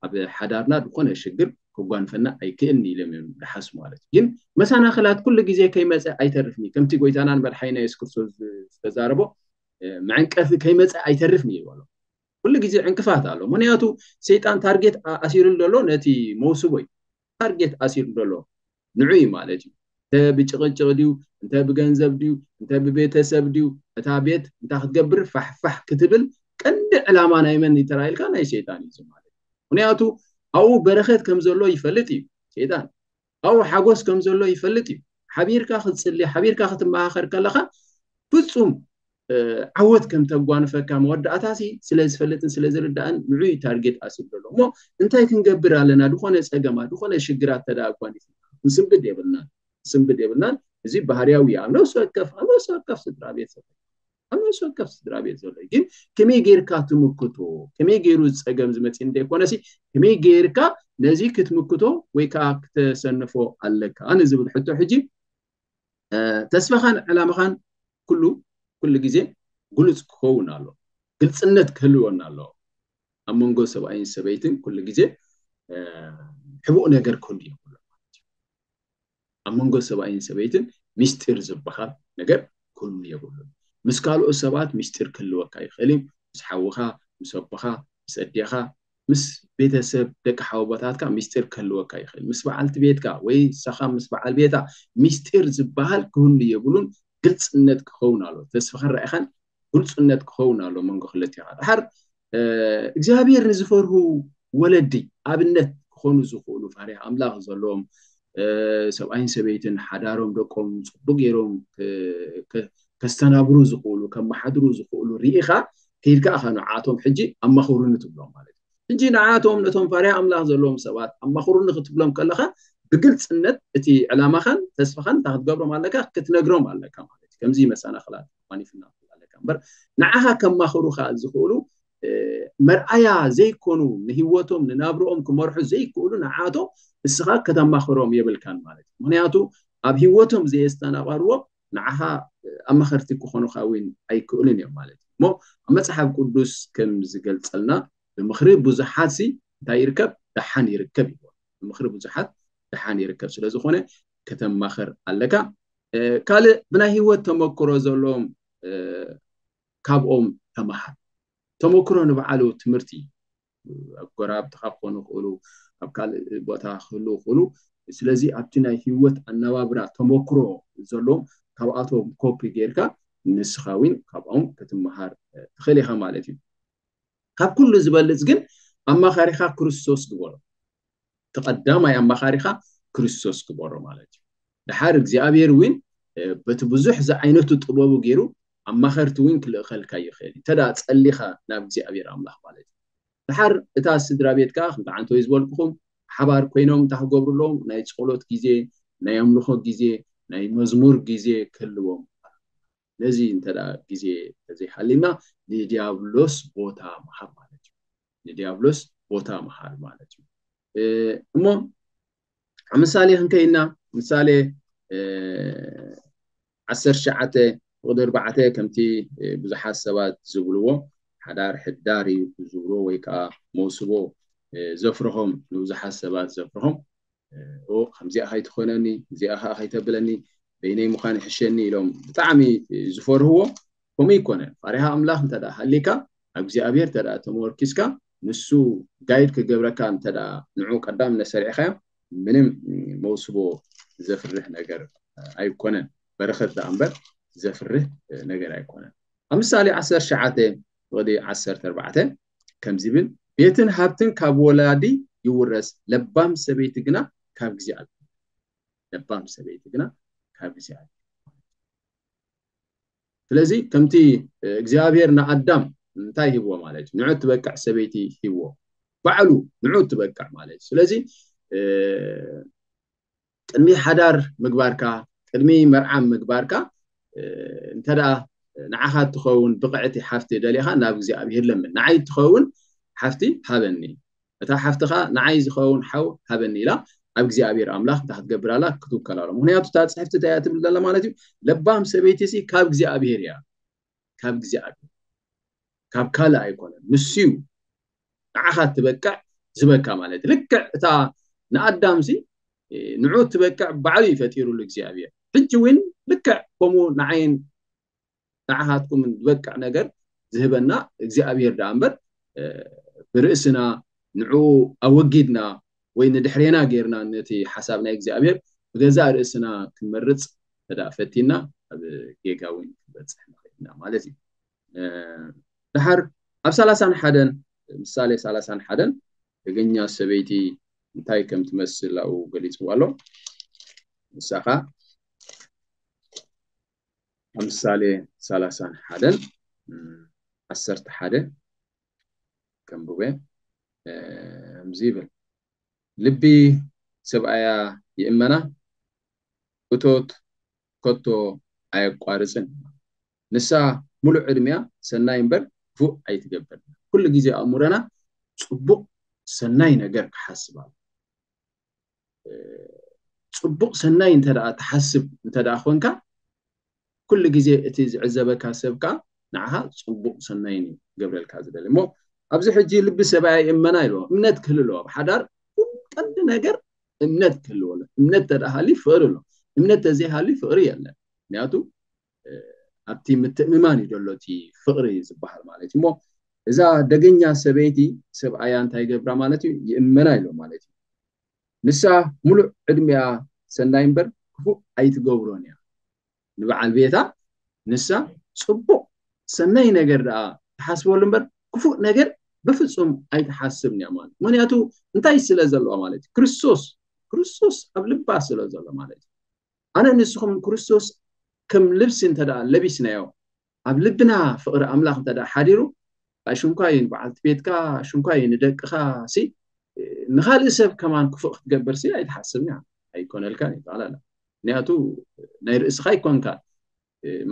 ኣብ ሓዳርና ዝኾነ ሽግር ክጓንፈና ኣይክእልን ኢሎም እዮም ዝሓስቡ ማለት እዩ። ግን መሰናኽላት ኩሉ ግዜ ከይመፀ ኣይተርፍን እዩ። ከምቲ ጎይታናን መድሓኒና የሱስ ክርስቶስ ዝተዛረቦ፣ መዐንቀፊ ከይመፀ ኣይተርፍን እዩ ይበሎ። ኩሉ ግዜ ዕንቅፋት ኣሎ። ምክንያቱ ሰይጣን ታርጌት ኣሲሩ ዘሎ ነቲ መውስቦ እዩ። ታርጌት ኣሲሩ ዘሎ ንዑ እዩ ማለት እዩ። እንተ ብጭቕጭቕ ድዩ፣ እንተ ብገንዘብ ድዩ፣ እንተ ብቤተሰብ ድዩ፣ እታ ቤት እንታይ ክትገብር ፋሕፋሕ ክትብል ቀንዲ ዕላማ ናይ መን እዩ ተራኢልካ? ናይ ሰይጣን እዩ ማለት እዩ። ምክንያቱ ኣብኡ በረኸት ከም ዘሎ ይፈልጥ እዩ ሰይጣን። ኣብኡ ሓጎስ ከም ዘሎ ይፈልጥ እዩ። ሓቢርካ ክትፅሊ፣ ሓቢርካ ክትመኻኸር ከለኻ ፍፁም ዓወት ከም ተጓንፈካ መወዳእታሲ ስለ ዝፈልጥን ስለ ዝርዳእን ንዑ ታርጌት ኣሲሩ ዘሎ። እሞ እንታይ ክንገብር ኣለና? ዝኾነ ፀገማት፣ ዝኾነ ሽግራት ተዳ ኣጓኒፍና ክንስንብድ የብልናን፣ ክንስንብድ የብልናን። እዚ ባህርያዊ እዩ። ኣብ ነፍሲ ወከፍ፣ ኣብ ነፍሲ ወከፍ ስድራ ቤት ዘሎ፣ ኣብ ነፍሲ ወከፍ ስድራ ቤት ዘሎ እዩ። ግን ከመይ ጌርካ ትምክቶ? ከመይ ገይሩ ፀገም ዝመፅእ እንደይኮነሲ ከመይ ጌርካ ነዚ ክትምክቶ ወይ ከዓ ክተሰንፎ ኣለካ ንዝብል ሕቶ ሕጂ ተስፋኻን ዕላማኻን ኩሉ ኩሉ ግዜ ግሉጽ ክኸውን ኣሎ። ግልጽነት ክህልወና ኣሎ። ኣብ መንጎ ሰብኣይን ሰበይትን ኩሉ ግዜ ሕቡእ ነገር ክህሉ የብሉ። ኣብ መንጎ ሰብኣይን ሰበይትን ሚስጢር ዝበሃል ነገር ክህሉ የብሉን። ምስ ካልኦት ሰባት ሚስጢር ክህልወካ ይኽእል እዩ። ምስ ሓውኻ፣ ምስ ኣቦኻ፣ ምስ ኣዴኻ፣ ምስ ቤተሰብ ደቂ ሓወቦታትካ ሚስጢር ክህልወካ ይኽእል። ምስ በዓልቲ ቤትካ ወይ ንስኻ ምስ በዓል ቤታ ሚስጢር ዝበሃል ክህሉ የብሉን። ግልጽነት ክኸውን ኣሎ። ተስፋ ክረኣኻን ግልጽነት ክኸውን ኣሎ መንጎ ክልቲኻ። ድሓር እግዚኣብሔር ንዝፈርሁ ወለዲ ኣብነት ክኾኑ ዝኽእሉ፣ ፈሪሃ ኣምላኽ ዘለዎም፣ ሰብኣይን ሰበይትን ሓዳሮም ደቆም ጽቡቅ ገይሮም ከስተናብሩ ዝኽእሉ፣ ከመሓድሩ ዝኽእሉ ርኢኻ ከይድካ ኢኻ ንዓቶም ሕጂ ኣማኽሩኒ ትብሎም ማለት እዩ። ሕጂ ንዓቶም ነቶም ፈሪሃ ኣምላኽ ዘለዎም ሰባት ኣማኽሩኒ ክትብሎም ከለኻ ብግልጽነት እቲ ዕላማኻን ተስፋኻን እንታይ ክትገብሮም ኣለካ? ክትነግሮም ኣለካ ማለት እዩ። ከምዚ መሰናኽላት ኣጓኒፍና ኣለካ እምበር ንዓኻ ከማኽሩኻ ዝኽእሉ መርኣያ ዘይኮኑ ንህይወቶም ንናብርኦም ክመርሑ ዘይክእሉ ንዓቶም እስኻ ከተማኽሮም የብልካን ማለት እዩ። ምክንያቱ ኣብ ህይወቶም ዘየስተናቐርዎ ንዓኻ ኣማኸርቲ ክኾኑኻ እውን ኣይክእሉን እዮም ማለት እዩ። እሞ ኣብ መፅሓፍ ቅዱስ ከም ዝገልፀልና ብምኽሪ ብዙሓት ሲ እንታይ ይርከብ? ደሓን ይርከብ ይብል። ብምኽሪ ብዙሓት ደሓን ይርከብ። ስለዝኾነ ከተማኽር ኣለካ። ካልእ ብናይ ህይወት ተመክሮ ዘለዎም ካብኦም ተምሃር። ተመክሮ ንባዕሉ ትምህርቲ ኣብ ጎረባብትኻ ክኾኑ ይኽእሉ፣ ኣብ ካልእ ቦታ ክህልዉ ይኽእሉ። ስለዚ ኣብቲ ናይ ህይወት ኣነባብራ ተመክሮ ዘለዎም ካብኣቶም ኮፒ ጌርካ ንስኻ እውን ካብኦም ክትመሃር ትኽእል ኢኻ ማለት እዩ። ካብ ኩሉ ዝበልጽ ግን ኣማኻሪኻ ክርስቶስ ግበሮ። እቲ ቀዳማይ ኣማኻሪኻ ክርስቶስ ግበሮ ማለት እዩ። ድሓር እግዚኣብሔር እውን በቲ ብዙሕ ዝዓይነቱ ጥበቡ ገይሩ ኣማኸርቲ እውን ክልእኸልካ ይኽእል እዩ። እንተ ጸሊኻ ናብ እግዚኣብሔር ኣምላኽ ማለት እዩ። ድሓር እታ ስድራ ቤትካ ከምቲ ዓንተወይ ዝበልኩኹም ሓባር ኮይኖም እንታይ ክገብሩ ኣለዎም? ናይ ጸሎት ግዜ፣ ናይ ኣምልኾ ግዜ፣ ናይ መዝሙር ግዜ ክህልዎም። ነዚ እንተ ግዜ ተዘይሃሊና ንዲያብሎስ ቦታ ምሃብ ማለት እዩ። ንዲያብሎስ ቦታ ምሃብ ማለት እዩ። እሞ ኣብ ምሳሌ ክንከይና ምሳሌ ዓሰርተ ትሽዓተ ፍቕዲ ኣርባዕተ ከምቲ ብዙሓት ሰባት ዝብልዎ ሓዳር ሕዳር እዩ ዝብልዎ ወይ ከዓ መውስቦ ዘፍርሆም ንብዙሓት ሰባት ዘፍርሆም ከምዚኣ ከይትኾነኒ እዚኣ ከዓ ከይተብለኒ በይነይ ምዃን ይሕሸኒ ኢሎም ብጣዕሚ ዝፈርህዎ ከምኡ ይኮነ። ፈሪሃ ኣምላኽ እንተ ሃሊካ ኣብ እግዚኣብሔር እንተ ተመርኪስካ ንሱ ጋይድ ክገብረካ እንተ ንዑ ቀዳም ነሰርዕኻዮ ምንም መውስቦ ዘፍርህ ነገር ኣይኮነን። በረኸት ደኣ እምበር ዘፍርህ ነገር ኣይኮነን። ኣብ ምሳሌ ዓሰርተ ትሽዓተ ፍቕዲ ዓሰርተ ኣርባዕተ ከምዚ ይብል፣ ቤትን ሃብትን ካብ ወላዲ ይውረስ፣ ለባም ሰበይቲ ግና ካብ እግዚኣብሔር። ለባም ሰበይቲ ግና ካብ እግዚኣብሔር። ስለዚ ከምቲ እግዚኣብሔር ንኣዳም እንታይ ሂብዎ ማለት እዩ? ንዑ ትበቅዕ ሰበይቲ ሂብዎ። ባዕሉ ንዑ ትበቅዕ ማለት እዩ። ስለዚ ቅድሚ ሓዳር ምግባርካ ቅድሚ መርዓ ምግባርካ እንተ ንዓኻ ትኸውን ብቕዕቲ ሓፍቲ ደሊኻ ናብ እግዚኣብሔር ለምን። ንዓይ ትኸውን ሓፍቲ ሃበኒ፣ እታ ሓፍትኻ ንዓይ ዝኸውን ሓው ሃበኒ ኢላ ኣብ እግዚኣብሔር ኣምላኽ እንታይ ክትገብር ኣላ? ክትውከል ኣላ። ምክንያቱ እታ ፅሕፍቲ እንታይ እያ ትብል ዘላ ማለት እዩ? ለባም ሰበይቲ ሲ ካብ እግዚኣብሔር እያ። ካብ እግዚኣብሔር፣ ካብ ካልእ ኣይኮነን። ንሱ እዩ ንዓኻ ትበቅዕ ዝበካ ማለት እዩ። ልክዕ እታ ንኣዳምሲ ንዑ ትበቅዕ ባዕሉ እዩ ፈጢሩሉ እግዚኣብሔር። ሕጂ እውን ልክዕ ከምኡ ንዓይን ንዓኻትኩም ዝበቅዕ ነገር ዝህበና እግዚኣብሔር ደኣ እምበር፣ ብርእስና ንዑ ኣወጊድና ወይ ንድሕሬና ጌርና ነቲ ሓሳብ ናይ እግዚኣብሔር ብገዛእ ርእስና ክንመርጽ ተዳ ፈቲና ኣብ ጌጋ እውን ክንበጽሕ ንኽእል ኢና ማለት እዩ። ደሓር ኣብ ሰላሳን ሓደን፣ ምሳሌ ሰላሳን ሓደን ደገኛ ሰበይቲ እንታይ ከም ትመስል ኣብኡ ገሊጽዋ ኣሎ። ንሳኻ ኣብ ምሳሌ ሰላሳን ሓደን ዓሰርተ ሓደ ከንብበ ከምዚ ይብል፣ ልቢ ሰብኣያ ይእመና፣ እቶት ከቶ ኣየቋርጽን። ንሳ ሙሉእ ዕድሚያ ሰናይ እምበር ክፉእ ኣይትገብር። ኩሉ ግዜ ኣእምሮና ጽቡቕ ሰናይ ነገር ክሓስብ ኣሎ። ጽቡቕ ሰናይ እንተ ደኣ ትሓስብ እንተ ደኣ ኾንካ፣ ኩሉ ግዜ እቲ ዝዕዘበካ ሰብ ከኣ ንዓኻ ጽቡቕ ሰናይ እዩ ገብረልካ ዝደሊ። እሞ ኣብዚ ሕጂ ልቢ ሰብኣያ ይእመና ኢልዎ። እምነት ክህሉ ኣለዎ። ኣብ ሓዳር ኩሉ ቀንዲ ነገር እምነት ክህልዎ ኣሎ። እምነት እንተ ደኣ ሃልዩ ፍቕሪ ኣሎ። እምነት ተዘይሃልዩ ፍቕሪ የለን። ምክንያቱ ኣብቲ ምትእምማን እዩ ዘሎ እቲ ፍቕሪ ዝበሃል ማለት እዩ። እሞ እዛ ደገኛ ሰበይቲ ሰብኣያ እንታይ ይገብራ ማለት እዩ? ይእመና ኢሎ ማለት እዩ። ንሳ ሙሉእ ዕድሚኣ ሰናይ እምበር ክፉእ ኣይትገብሮን እያ። ንበዓል ቤታ ንሳ ጽቡቕ ሰናይ ነገር ደኣ ትሓስበሉ እምበር ክፉእ ነገር ብፍጹም ኣይትሓስብን እያ ማለት እዩ። ምክንያቱ እንታይ ስለ ዘለዋ ማለት እዩ? ክርስቶስ፣ ክርስቶስ ኣብ ልባ ስለ ዘሎ ማለት እዩ። ኣነ ንስኹም ክርስቶስ ከም ልብሲ እንተ ደኣ ለቢስናዮ፣ ኣብ ልብና ፍቕሪ ኣምላኽ እንተ ደኣ ሓዲሩ፣ ኣሽንኳይ ንበዓልቲ ቤትካ፣ ኣሽንኳይ ንደቅኻ ሲ፣ ንኻልእ ሰብ ከማን ክፉእ ክትገብር ሲ ኣይትሓስብን እያ። ኣይኮነልካን እዩ፣ ጠቕላላ። ምክንያቱ ናይ ርእስኻ ኣይኮንካ፣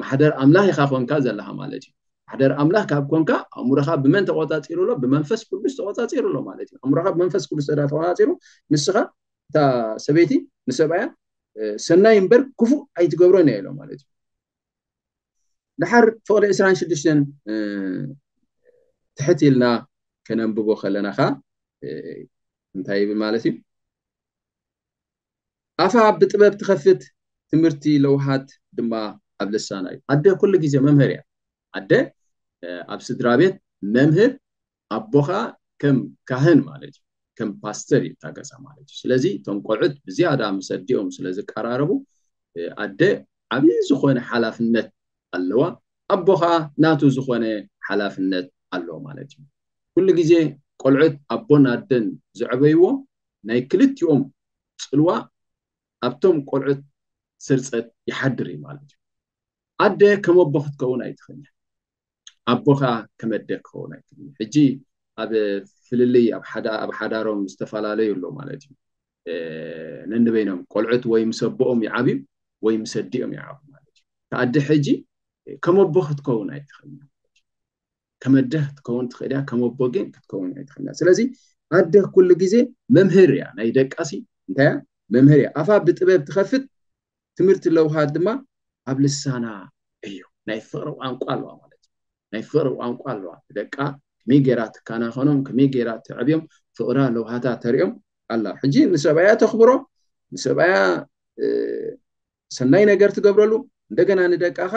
ማሕደር ኣምላኽ ኢኻ ኮንካ ዘለኻ ማለት እዩ። ማሕደር ኣምላኽ ካብ ኮንካ፣ ኣእምሮኻ ብመን ተቖጻጺሩ ኣሎ? ብመንፈስ ቅዱስ ተቖጻጺሩ ኣሎ ማለት እዩ። ኣእምሮኻ ብመንፈስ ቅዱስ ተዳ ተቖጻጺሩ፣ ንስኻ፣ እታ ሰበይቲ ንሰብኣያ፣ እ፣ ሰናይ እምበር ክፉእ ኣይትገብሮን እያ ኢሎ ማለት እዩ። ድሓር ፍቕዲ ዕስራን ሽዱሽተን፣ እ፣ ትሕት ኢልና ከነንብቦ ከለና ኸኣ፣ እ፣ እንታይ ይብል ማለት እዩ? ኣፋ ብጥበብ ትኸፍት፣ ትምህርቲ ለውሃት ድማ ኣብ ልሳና እዩ። ኣደ ኩሉ ግዜ መምህር እያ። ኣደ፣ እ፣ ኣብ ስድራ ቤት መምህር፣ ኣቦኻ ከም ካህን ማለት እዩ፣ ከም ፓስተር እዩ እታ ገዛ ማለት እዩ። ስለዚ እቶም ቆልዑት ብዝያዳ ምስ ኣዲኦም ስለ ዝቀራረቡ፣ እ፣ ኣደ ዓብዪ ዝኾነ ሓላፍነት ኣለዋ። ኣቦ ኸኣ ናቱ ዝኾነ ሓላፍነት ኣለዎ ማለት እዩ። ኩሉ ግዜ ቆልዑት ኣቦን ኣደን ዘዕበይዎ ናይ ክልቲኦም ጽልዋ ኣብቶም ቆልዑት ስርጸት ይሓድር እዩ ማለት እዩ። ኣደ ከም ኣቦ ክትከውን ኣይትኽእልን። ኣቦ ኸኣ ከም ኣደ ክኸውን ኣይክእልን። ሕጂ ኣብ ፍልልይ ኣብ ሓዳ-፣ ኣብ ሓዳሮም ዝተፈላለዩ ኣሎ ማለት እዩ። እ፣ ነንበይኖም ቆልዑት ወይ ምስ ኣቦኦም ይዓብዩ ወይ ምስ ኣዲኦም ይዓብዩ ማለት እዩ። እቲ ኣደ ሕጂ ከም ኣቦ ክትከውን ኣይትኽእልን። ከም ኣደ ክትከውን ትኽእል እያ፣ ከም ኣቦ ግን ክትከውን ኣይትኽእልን። ስለዚ ኣደ ኩሉ ግዜ መምህር እያ፣ ናይ ደቃሲ እንታይ እያ? መምህር እያ። ኣፋ ብጥበብ ትኸፍት፣ ትምህርቲ ለውሃት ድማ ኣብ ልሳና እዩ። ናይ ፍቕሪ ቋንቋ ኣለዋ ማለት እዩ። ናይ ፍቕሪ ቋንቋ ኣለዋ። ደቃ ከመይ ገይራ ትከናኸኖም፣ ከመይ ገይራ ተዕብዮም፣ ፍቕራ ለውሃታ ተርእዮም ኣላ። ሕጂ ንሰብኣያ ተኽብሮ፣ ንሰብኣያ፣ እ፣ ሰናይ ነገር ትገብረሉ፣ እንደገና ንደቃኻ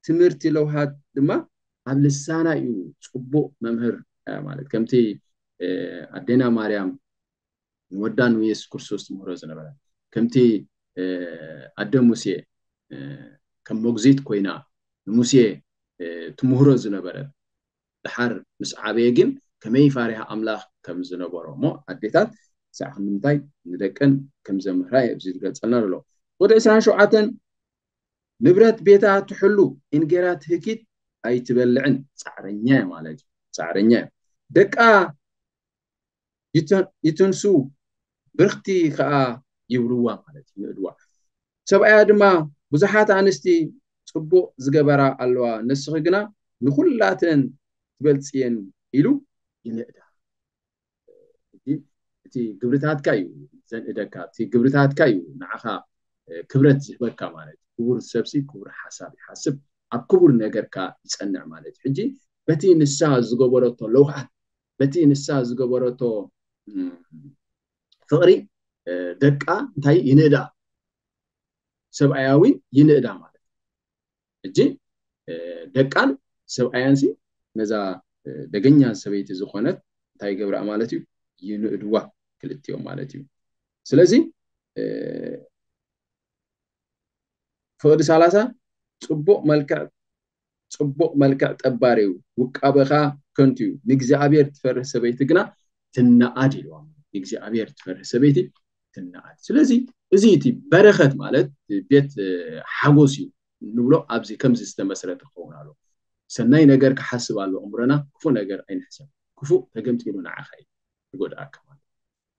ትምህርቲ ለውሃት ድማ ኣብ ልሳና እዩ ጽቡቕ መምህር፣ እ፣ ማለት ከምቲ፣ እ፣ ኣዴና ማርያም ንወዳ ንየሱስ ክርስቶስ ትምህሮ ዝነበረ፣ ከምቲ፣ እ፣ ኣደ ሙሴ፣ እ፣ ከም መጉዚት ኮይና ንሙሴ፣ እ፣ ትምህሮ ዝነበረ፣ ድሓር ምስ ዓበየ ግን ከመይ ፋሪሃ ኣምላኽ ከም ዝነበሮ፣ እሞ ኣዴታት ሳዕ ክንዲ ምንታይ ንደቀን ከም ዘምህራ እዩ ኣብዚ ዝገልጸልና ዘሎ። ወዲ ዕስራን ሸውዓተን ንብረት ቤታ ትሕሉ፣ እንጌራ ትህኪት ኣይትበልዕን። ጻዕረኛ እያ ማለት እዩ። ጻዕረኛ እያ። ደቃ ይተ-፣ ይትንሱ፣ ብርኽቲ ከኣ ይብርዋ ማለት እዩ፣ ይንእድዋ። ሰብኣያ ድማ ብዙሓት ኣንስቲ ጽቡቕ ዝገበራ ኣለዋ፣ ንስኺ ግና ንኹላተን ትበልጽየን ኢሉ ይንእዳ። እቲ፣ እቲ ግብርታትካ እዩ ዘንእደካ፣ እቲ ግብርታትካ እዩ ንዓኻ፣ እ፣ ክብረት ዝህበካ ማለት እዩ። ክቡር ሰብሲ ክቡር ሓሳብ ይሓስብ። ኣብ ክቡር ነገርካ ይጸንዕ ማለት እዩ። ሕጂ በቲ ንሳ ዝገበረቶ ለውሃት፣ በቲ ንሳ ዝገበረቶ ፍቕሪ ደቃ እንታይ ይንእዳ፣ ሰብኣያ እውን ይንእዳ ማለት እዩ። ሕጂ ደቃን ሰብኣያን ሲ ነዛ ደገኛ ሰበይቲ ዝኾነት እንታይ ይገብራ ማለት እዩ? ይንእድዋ ክልቲኦም ማለት እዩ። ስለዚ ፍቕዲ ሰላሳ ጽቡቕ መልክዕ ጽቡቕ መልክዕ ጠባር እዩ፣ ውቃበኻ ከንቱ እዩ፣ ንእግዚኣብሔር ትፈርህ ሰበይቲ ግና ትነኣድ ኢልዋ። ንእግዚኣብሔር ትፈርህ ሰበይቲ ትነኣድ። ስለዚ እዚ እቲ በረኸት ማለት ቤት ሓጎስ እዩ ንብሎ ኣብዚ ከምዚ ዝተመስረተ ክኸውን ኣሎ። ሰናይ ነገር ክሓስብ ኣሎ እምሮና፣ ክፉእ ነገር ኣይንሕሰብ። ክፉእ ተገምጢሉ ንዓኻ እዩ ዝጎድኣካ ማለት።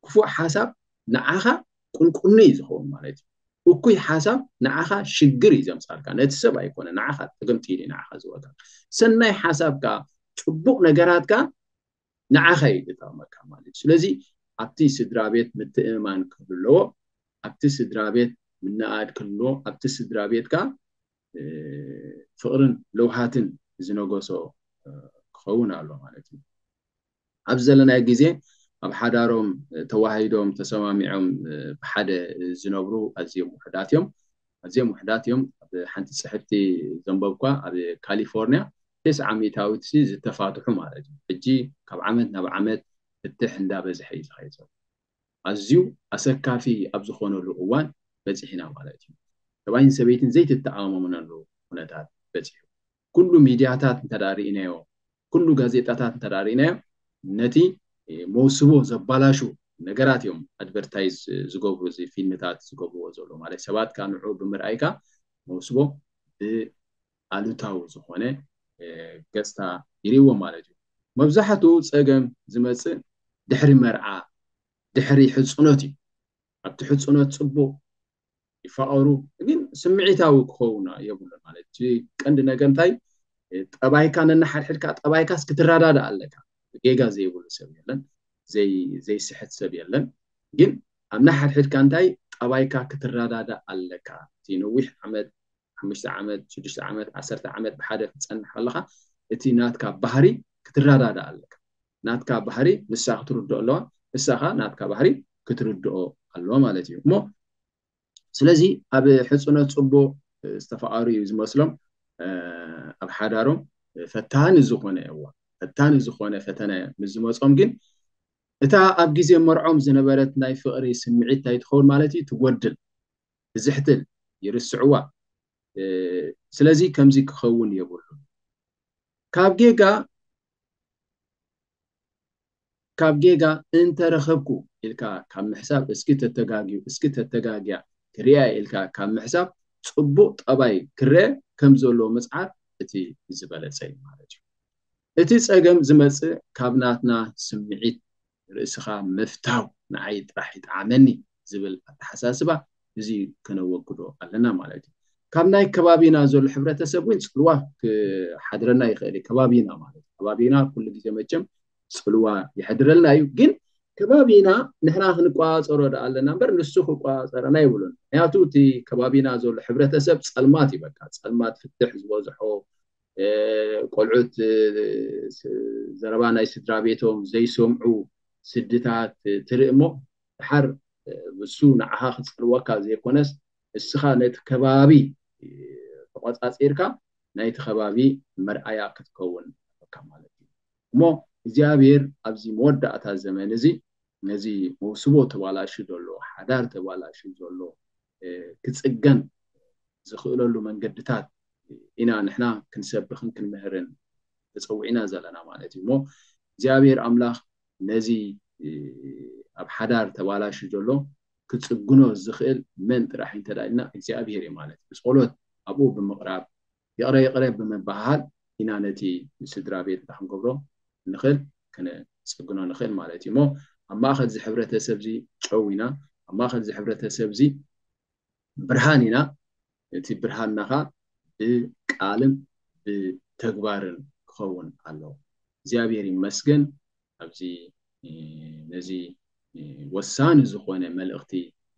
ክፉእ ሓሳብ ንዓኻ ቁንቁኒ እዩ ዝኸውን ማለት እዩ። እኩይ ሓሳብ ንዓኻ ሽግር እዩ ዘምጻልካ፣ ነቲ ሰብ ኣይኮነ፣ ንዓኻ ተገምጢሉ እዩ ንዓኻ ዝወካ። ሰናይ ሓሳብካ፣ ጽቡቕ ነገራትካ ንዓኻ እዩ ዝጠቕመካ ማለት እዩ። ስለዚ ኣብቲ ስድራ ቤት ምትእምማን ክህሉ ኣለዎ። ኣብቲ ስድራ ቤት ምንኣድ ክህልዎ፣ ኣብቲ ስድራ ቤትካ ፍቕርን ለውሃትን ዝነገሶ ክኸውን ኣሎ ማለት እዩ። ኣብ ዘለናይ ግዜ ኣብ ሓዳሮም ተዋሂዶም ተሰማሚዖም ብሓደ ዝነብሩ ኣዝዮም ውሕዳት እዮም። ኣዝዮም ውሕዳት እዮም። ኣብ ሓንቲ ጽሕፍቲ ዘንበብኳ ኣብ ካሊፎርኒያ ተስዓ ሚእታዊት ሲ ዝተፋትሑ ማለት እዩ። ሕጂ ካብ ዓመት ናብ ዓመት ፍትሕ እንዳበዝሐ እዩ ዝኸይድ ዘሎ። ኣዝዩ ኣሰካፊ ኣብ ዝኾነሉ እዋን በጺሕና ማለት እዩ። ሰብኣይን ሰበይትን ዘይትተኣማመነሉ ኩነታት በጺሑ። ኩሉ ሚድያታት እንተዳርኢናዮ፣ ኩሉ ጋዜጣታት እንተዳርኢናዮ ነቲ መውስቦ ዘባላሹ ነገራት እዮም ኣድቨርታይዝ ዝገብሩ፣ እዚ ፊልምታት ዝገብርዎ ዘሎ ማለት ሰባት ካ ንዑ ብምርኣይካ መውስቦ ብኣሉታዊ ዝኾነ ገጽታ ይርእዎ ማለት እዩ። መብዛሕትኡ ጸገም ዝመጽእ ድሕሪ መርዓ፣ ድሕሪ ሕጽኖት እዩ። ኣብቲ ሕጽኖት ጽቡቕ ይፋቐሩ፣ ግን ስምዒታዊ ክኸውን የብሉን ማለት እዩ። ቀንዲ ነገር እንታይ? ጠባይካ ነናሓድሕድካ፣ ጠባይካስ ክትረዳዳእ ኣለካ። ጌጋ ዘይብሉ ሰብ የለን፣ ዘይስሕት ሰብ የለን። ግን ኣብ ናሓድሕድካ እንታይ ጠባይካ ክትረዳዳእ ኣለካ። እቲ ነዊሕ ዓመት፣ ሓሙሽተ ዓመት፣ ሽዱሽተ ዓመት፣ ዓሰርተ ዓመት ብሓደ ክትጸንሕ ኣለኻ፣ እቲ ናትካ ባህሪ ክትረዳዳእ ኣለካ። ናትካ ባህሪ ንሳ ክትርድኦ ኣለዋ፣ ንሳኻ ናትካ ባህሪ ክትርድኦ ኣለዋ ማለት እዩ። እሞ ስለዚ ኣብ ሕጽኖት ጽቡቕ ዝተፋቐሩ እዩ ዝመስሎም። ኣብ ሓዳሮም ፈታኒ ዝኾነ እዋ፣ ፈታኒ ዝኾነ ፈተነ ምስ ዝመጾም ግን እታ ኣብ ግዜ መርዖም ዝነበረት ናይ ፍቕሪ ስምዒት እንታይ ትኸውን ማለት እዩ? ትጎድል፣ ትዝሕትል፣ ይርስዕዋ። ስለዚ ከምዚ ክኸውን የብሉን። ካብ ጌጋ ካብ ጌጋ እንተረኸብኩ ኢልካ ካብ ምሕሳብ እስኪ ተተጋግዩ፣ እስኪ ተተጋግያ ክሪኣ ኢልካ ካብ ምሕሳብ ጽቡቕ ጠባይ ክረአ ከም ዘለዎ ምጽዓር እቲ ዝበለጸ እዩ ማለት እዩ። እቲ ጸገም ዝመጽእ ካብ ናትና ስምዒት ርእስኻ ምፍታው ንዓይ ጥራሕ ይጥዓመኒ ዝብል ኣተሓሳስባ እዚ ከነወግዶ ኣለና ማለት እዩ። ካብ ናይ ከባቢና ዘሎ ሕብረተሰብ እውን ጽልዋ ክሓድረና ይኽእል እዩ። ከባቢና ማለት ከባቢና ኩሉ ግዜ መቸም ጽልዋ ይሕድረልና እዩ። ግን ከባቢና ንሕና ክንቆጻጸሮ ደኣ ኣለና እምበር ንሱ ክቆጻጸረና ይብሉን። ምክንያቱ እቲ ከባቢና ዘሎ ሕብረተሰብ ጸልማት እዩ። በቃ ጸልማት ፍትሕ ዝበዝሖ፣ ቆልዑት ዘረባ ናይ ስድራ ቤቶም ዘይሰምዑ ስድታት ትርኢ እሞ ድሓር እሱ ንዓኻ ክጸልወካ ዘይኮነስ እስኻ ነቲ ከባቢ ተቆጻጺርካ ናይቲ ከባቢ መርኣያ ክትከውን ኣለካ ማለት እዩ። እሞ እግዚኣብሔር ኣብዚ መወዳእታ ዘመን እዚ ነዚ መውስቦ ተባላሹ ዘሎ፣ ሓዳር ተባላሹ ዘሎ ክጽገን ዝኽእለሉ መንገድታት ኢና ንሕና ክንሰብኽን ክንምህርን ተጸዊዕና ዘለና ማለት እዩ። እሞ እግዚኣብሔር ኣምላኽ ነዚ ኣብ ሓዳር ተባላሹ ዘሎ ክጽግኖ ዝኽእል መን ጥራሕ እንተዳ ኢልና እግዚኣብሔር እዩ ማለት እዩ። ብጸሎት ኣብኡ ብምቕራብ ይቕረ ይቕረ ብምብሃሃል ኢና ነቲ ስድራ ቤት እንታይ ክንገብሮ ንኽእል፣ ክንጽግኖ ንኽእል ማለት እዩ። እሞ ኣብ ማእኸል እዚ ሕብረተሰብ እዚ ጨው ኢና፣ ኣብ ማእኸል እዚ ሕብረተሰብ እዚ ብርሃን ኢና። እቲ ብርሃንና ኸዓ ብቃልን ብተግባርን ክኸውን ኣለዎ። እግዚኣብሔር ይመስገን ኣብዚ ነዚ ወሳኒ ዝኾነ መልእኽቲ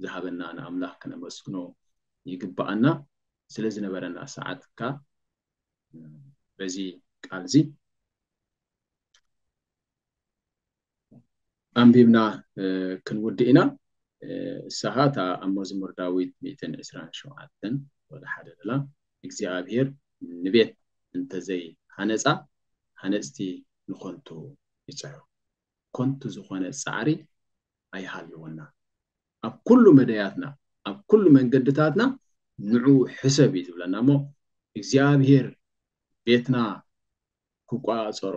ዝሃበና ንኣምላኽ ክነመስግኖ ይግብኣና። ስለ ዝነበረና ሰዓት ከኣ በዚ ቃል እዚ ኣንቢብና ክንውድእ ኢና። እሳኻ እታ ኣብ መዝሙር ዳዊት ሚእትን ዕስራን ሸውዓተን ወደ ሓደ ደላ እግዚኣብሔር ንቤት እንተዘይ ሃነፃ ሃነፅቲ ንኾንቱ ይፅዕሩ። ኮንቱ ዝኾነ ፃዕሪ ኣይሃልወና። ኣብ ኩሉ መደያትና ኣብ ኩሉ መንገድታትና ንዑ ሕሰብ እዩ ዝብለና እሞ እግዚኣብሔር ቤትና ክቋፀሮ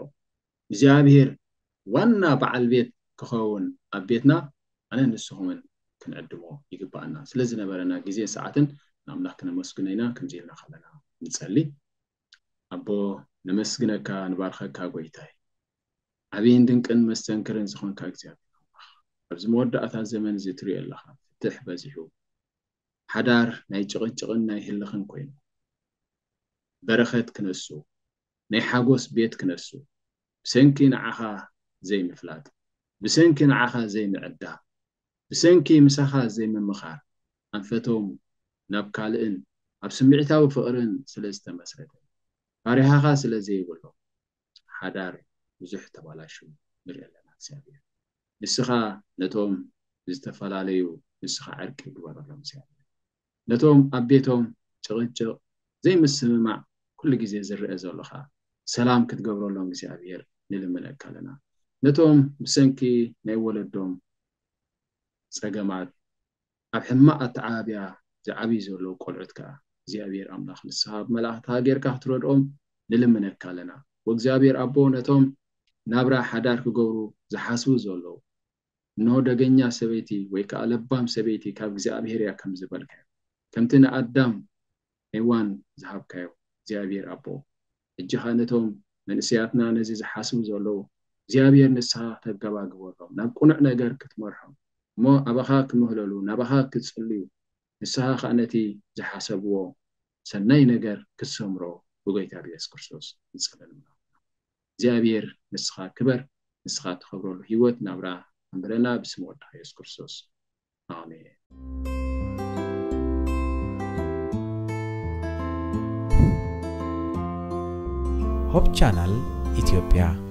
እግዚኣብሔር ዋና በዓል ቤት ክኸውን ኣብ ቤትና ኣነ ንስኹምን ክንዕድሞ ይግባኣና። ስለዝነበረና ግዜ ሰዓትን ንኣምላኽ ክነመስግኖ ኢና። ከምዚ ኢልና ከለና ንጸሊ። ኣቦ ነመስግነካ ንባርኸካ ጎይታይ። ዓብይን ድንቅን መስተንክርን ዝኾንካ እግዚኣብሔር ኣምላኽ ኣብዚ መወዳእታ ዘመን እዚ ትሪኦ ኣለኻ። ፍትሕ በዚሑ ሓዳር ናይ ጭቕጭቕን ናይ ህልኽን ኮይኑ በረኸት ክነሱ ናይ ሓጎስ ቤት ክነሱ ብሰንኪ ንዓኻ ዘይምፍላጥ ብሰንኪ ንዓኻ ዘይምዕዳ ብሰንኪ ምሳኻ ዘይምምኻር ኣንፈቶም ናብ ካልእን ኣብ ስምዒታዊ ፍቕርን ስለ ዝተመስረተ ፋሪሃኻ ስለ ዘይብሎም ሓዳር ብዙሕ ተባላሹ ንርኢ ኣለና እግዚኣብሔር። ንስኻ ነቶም ዝተፈላለዩ ንስኻ ዕርቂ ግበረሎም እግዚኣብሔር። ነቶም ኣብ ቤቶም ጭቕጭቕ ዘይምስምማዕ ኩሉ ግዜ ዝረአ ዘሎ ኸዓ ሰላም ክትገብረሎም እግዚኣብሔር ንልምነካ ኣለና። ነቶም ብሰንኪ ናይ ወለዶም ፀገማት ኣብ ሕማቕ ኣተዓባብያ ዝዓብዩ ዘለዉ ቆልዑት ከኣ እግዚኣብሔር ኣምላኽ ንስኻ ብመላእኽትኻ ጌርካ ክትረድኦም ንልምነካ ኣለና። ወእግዚኣብሔር ኣቦ ነቶም ናብራ ሓዳር ክገብሩ ዝሓስቡ ዘለዉ እንሆ ደገኛ ሰበይቲ ወይ ከኣ ለባም ሰበይቲ ካብ እግዚኣብሔር እያ ከም ዝበልካዮ ከምቲ ንኣዳም ሄዋን ዝሃብካዮ እግዚኣብሔር ኣቦ ሕጂ ኸኣ ነቶም መንእሰያትና ነዚ ዝሓስቡ ዘለዉ እግዚኣብሔር ንስኻ ተገባግበሎም ናብ ቅኑዕ ነገር ክትመርሖም እሞ ኣባኻ ክምህለሉ ናባኻ ክጽልዩ ንስኻ ኸኣ ነቲ ዝሓሰብዎ ሰናይ ነገር ክትሰምሮ ብጎይታ ብየሱስ ክርስቶስ ንጸለና እግዚኣብሔር ንስኻ ክበር ንስኻ ትኸብረሉ ህይወት ናብራ ኣንብረና ብስም ወድኻ የሱስ ክርስቶስ ኣሜን። ሆፕ ቻናል ኢትዮጵያ